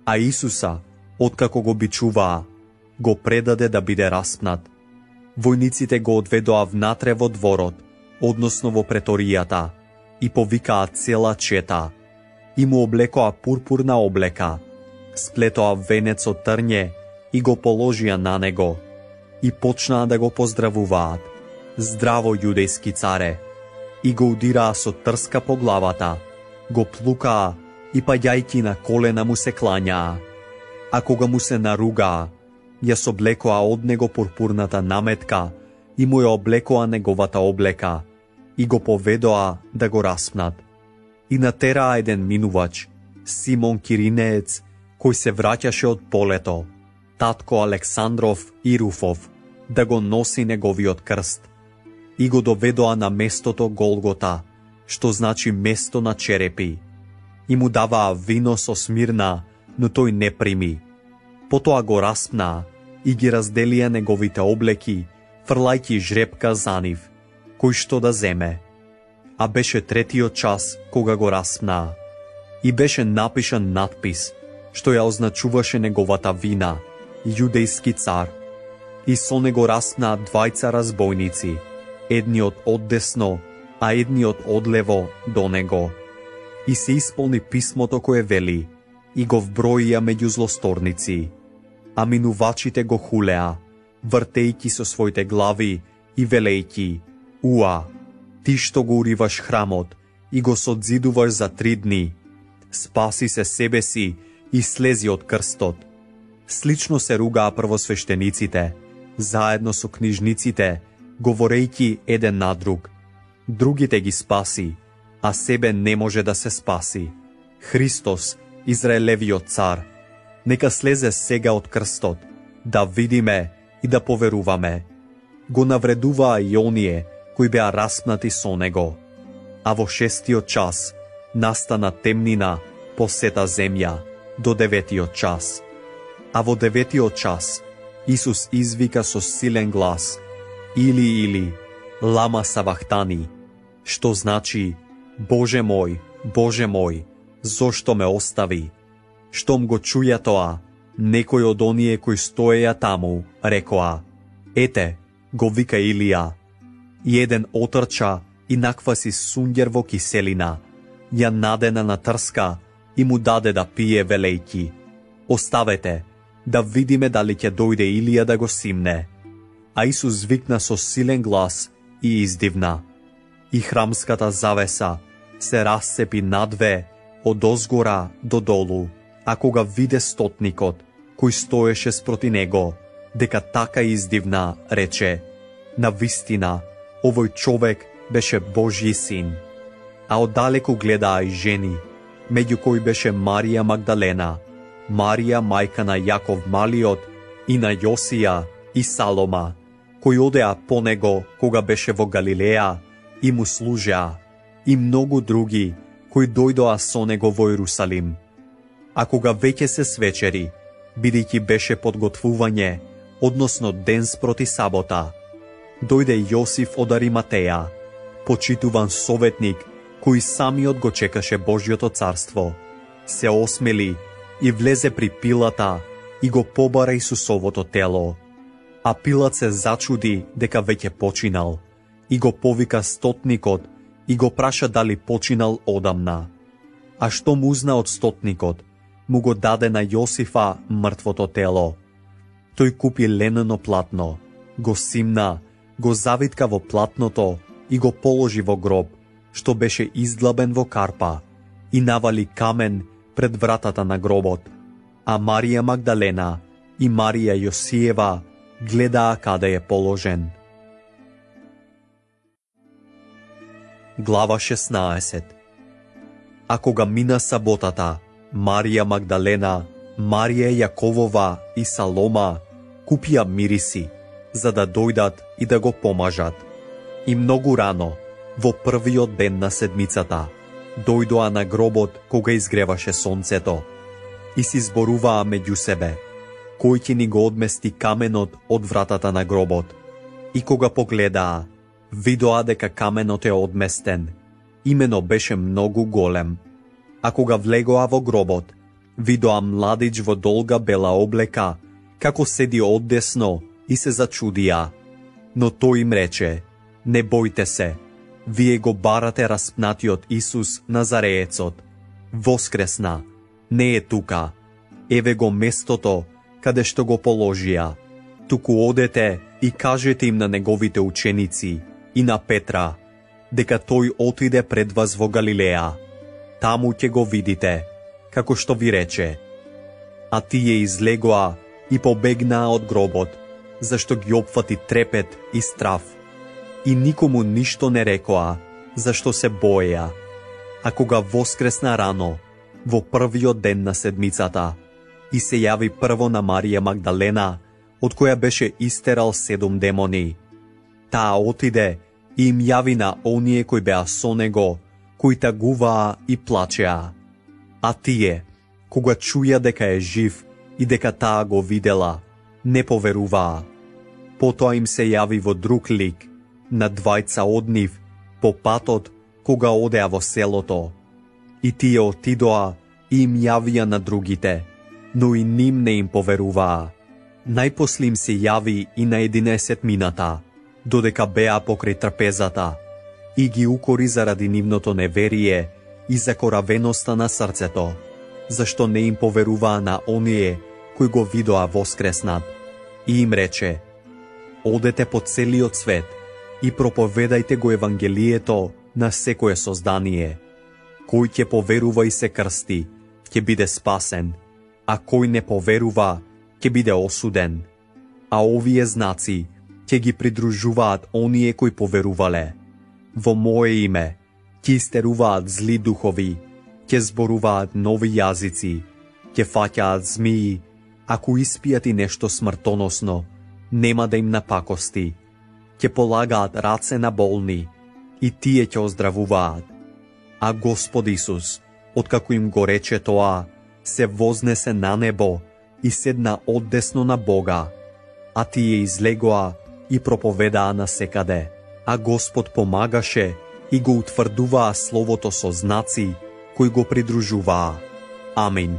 а Исуса, откако го бичуваа, го предаде да биде распнат. Војниците го одведоа внатре во дворот, односно во преторијата, и повикаа цела чета. И му облекоа пурпурна облека, сплетоа венец од трње и го положија на него. И почнаа да го поздравуваат: здраво, јудејски царе! И го удираа со трска по главата, го плукаа и паѓајќи на колена му се клањаа. А кога му се наругаа, ја соблекоа од него пурпурната наметка и му ја облекоа неговата облека и го поведоа да го распнат. И натераа еден минувач, Симон Киринеец, кој се враќаше од полето, татко Александров и Руфов, да го носи неговиот крст. И го доведоа на местото Голгота, што значи место на черепи. И му даваа вино со смирна, но тој не прими. Потоа го распнаа и ги разделија неговите облеки, фрлајќи жрепка за нив, кој што да земе. А беше третиот час кога го распнаа. И беше напишан надпис, што ја означуваше неговата вина: јудејски цар. И со него распнаа 2 разбойници, едниот од десно, а едниот од лево до него. И се исполни писмото кое вели: и го вброија меѓу злосторници. А минувачите го хулеа, вртејќи со своите глави и велејќи: уа, ти што го уриваш храмот и го содзидуваш за 3 дни, спаси се себе си и слези од крстот. Слично се ругаа првосвештениците, заедно со книжниците, говорејќи еден на друг: другите ги спаси, а себе не може да се спаси. Христос, Израелевиот цар, нека слезе сега од крстот, да видиме и да поверуваме. Го навредуваа и оние кои беа распнати со него. А во 6-тиот час настана темнина по сета земја до 9-тиот час. А во 9-тиот час Исус извика со силен глас: Или, лама савахтани, што значи: Боже мој, зошто ме остави? Штом го чуја тоа, некој од оние кои стоеја таму рекоа: ете, го вика Илија. И еден отрча и накваси сунѓер во киселина, ја надена на трска и му даде да пие велејќи: оставете, да видиме дали ќе дојде Илија да го симне. А Исус викна со силен глас и издивна. И храмската завеса се расцепи надве од озгора до долу, а кога виде стотникот, кој стоеше спроти него, дека така издивна, рече: навистина, овој човек беше Божји син. А оддалеку гледаа и жени, меѓу кои беше Марија Магдалена, Марија мајка на Јаков Малиот и на Јосија и Салома, кои одеа по него кога беше во Галилеја и му служеа, и многу други кои дојдоа со него во Иерусалим. А кога веќе се свечери, бидејќи беше подготвување, односно ден спроти сабота, дојде Јосиф од Ариматеја, почитуван советник, кој самиот го чекаше Божјото царство, се осмели и влезе при Пилата и го побара Исусовото тело. А Пилат се зачуди дека веќе починал и го повика стотникот и го праша дали починал одамна. А што му узна од стотникот, му го даде на Јосифа мртвото тело. Тој купи ленено платно, го симна, го завитка во платното и го положи во гроб, што беше издлабен во карпа, и навали камен пред вратата на гробот. А Марија Магдалена и Марија Јосиева гледаа каде е положен. Глава 16. А кога мина саботата, Марија Магдалена, Марија Јаковова и Салома купија мириси, за да дојдат и да го помажат. И многу рано, во првиот ден на седмицата, дојдоа на гробот кога изгреваше сонцето и си зборуваа меѓу себе: кој ќе ни го одмести каменот од вратата на гробот? И кога погледаа, видоа дека каменот е одместен, имено беше многу голем. А кога влегоа во гробот, видоа младич во долга бела облека, како седи оддесно, и се зачудија. Но тој им рече: не бојте се, вие го барате распнатиот Исус Назареецот. Воскресна, не е тука. Еве го местото каде што го положија. Туку одете и кажете им на неговите ученици и на Петра, дека тој отиде пред вас во Галилеја. Таму ќе го видите, како што ви рече. А тие излегоа и побегнаа од гробот, зашто ги опфати трепет и страв. И никому ништо не рекоа, зашто се боеја. А кога воскресна рано, во првиот ден на седмицата, и се јави прво на Марија Магдалена, од која беше истерал 7 демони. Таа отиде и им јави на оние кои беа со него, кои тагуваа и плачеа. А тие, кога чуја дека е жив и дека таа го видела, не поверуваа. Потоа им се јави во друг лик, на двајца од нив, по патот кога одеа во селото. И тие отидоа и им јавија на другите, но и ним не им поверуваа. Најпосле им се јави и на 11 мината, додека беа покрај трпезата, и ги укори заради нивното неверие и закоравеноста на срцето, зашто не им поверуваа на оние кои го видоа воскреснат. И им рече: одете по целиот свет и проповедајте го Евангелието на секое создание. Кој ќе поверува и се крсти, ќе биде спасен, а кој не поверува, ќе биде осуден. А овие знаци ќе ги придружуваат оние кои поверувале. Во мое име ќе истеруваат зли духови, ќе зборуваат нови јазици, ќе фаќаат змии, ако испијат и нешто смртоносно, нема да им напакости, ќе полагаат раце на болни и тие ќе оздравуваат. А Господ Исус, откако им го рече тоа, се вознесе на небо и седна оддесно на Бога, а тие излегоа и проповедаа насекаде, а Господ помагаше и го утврдуваа словото со знаци кои го придружуваа. Амин.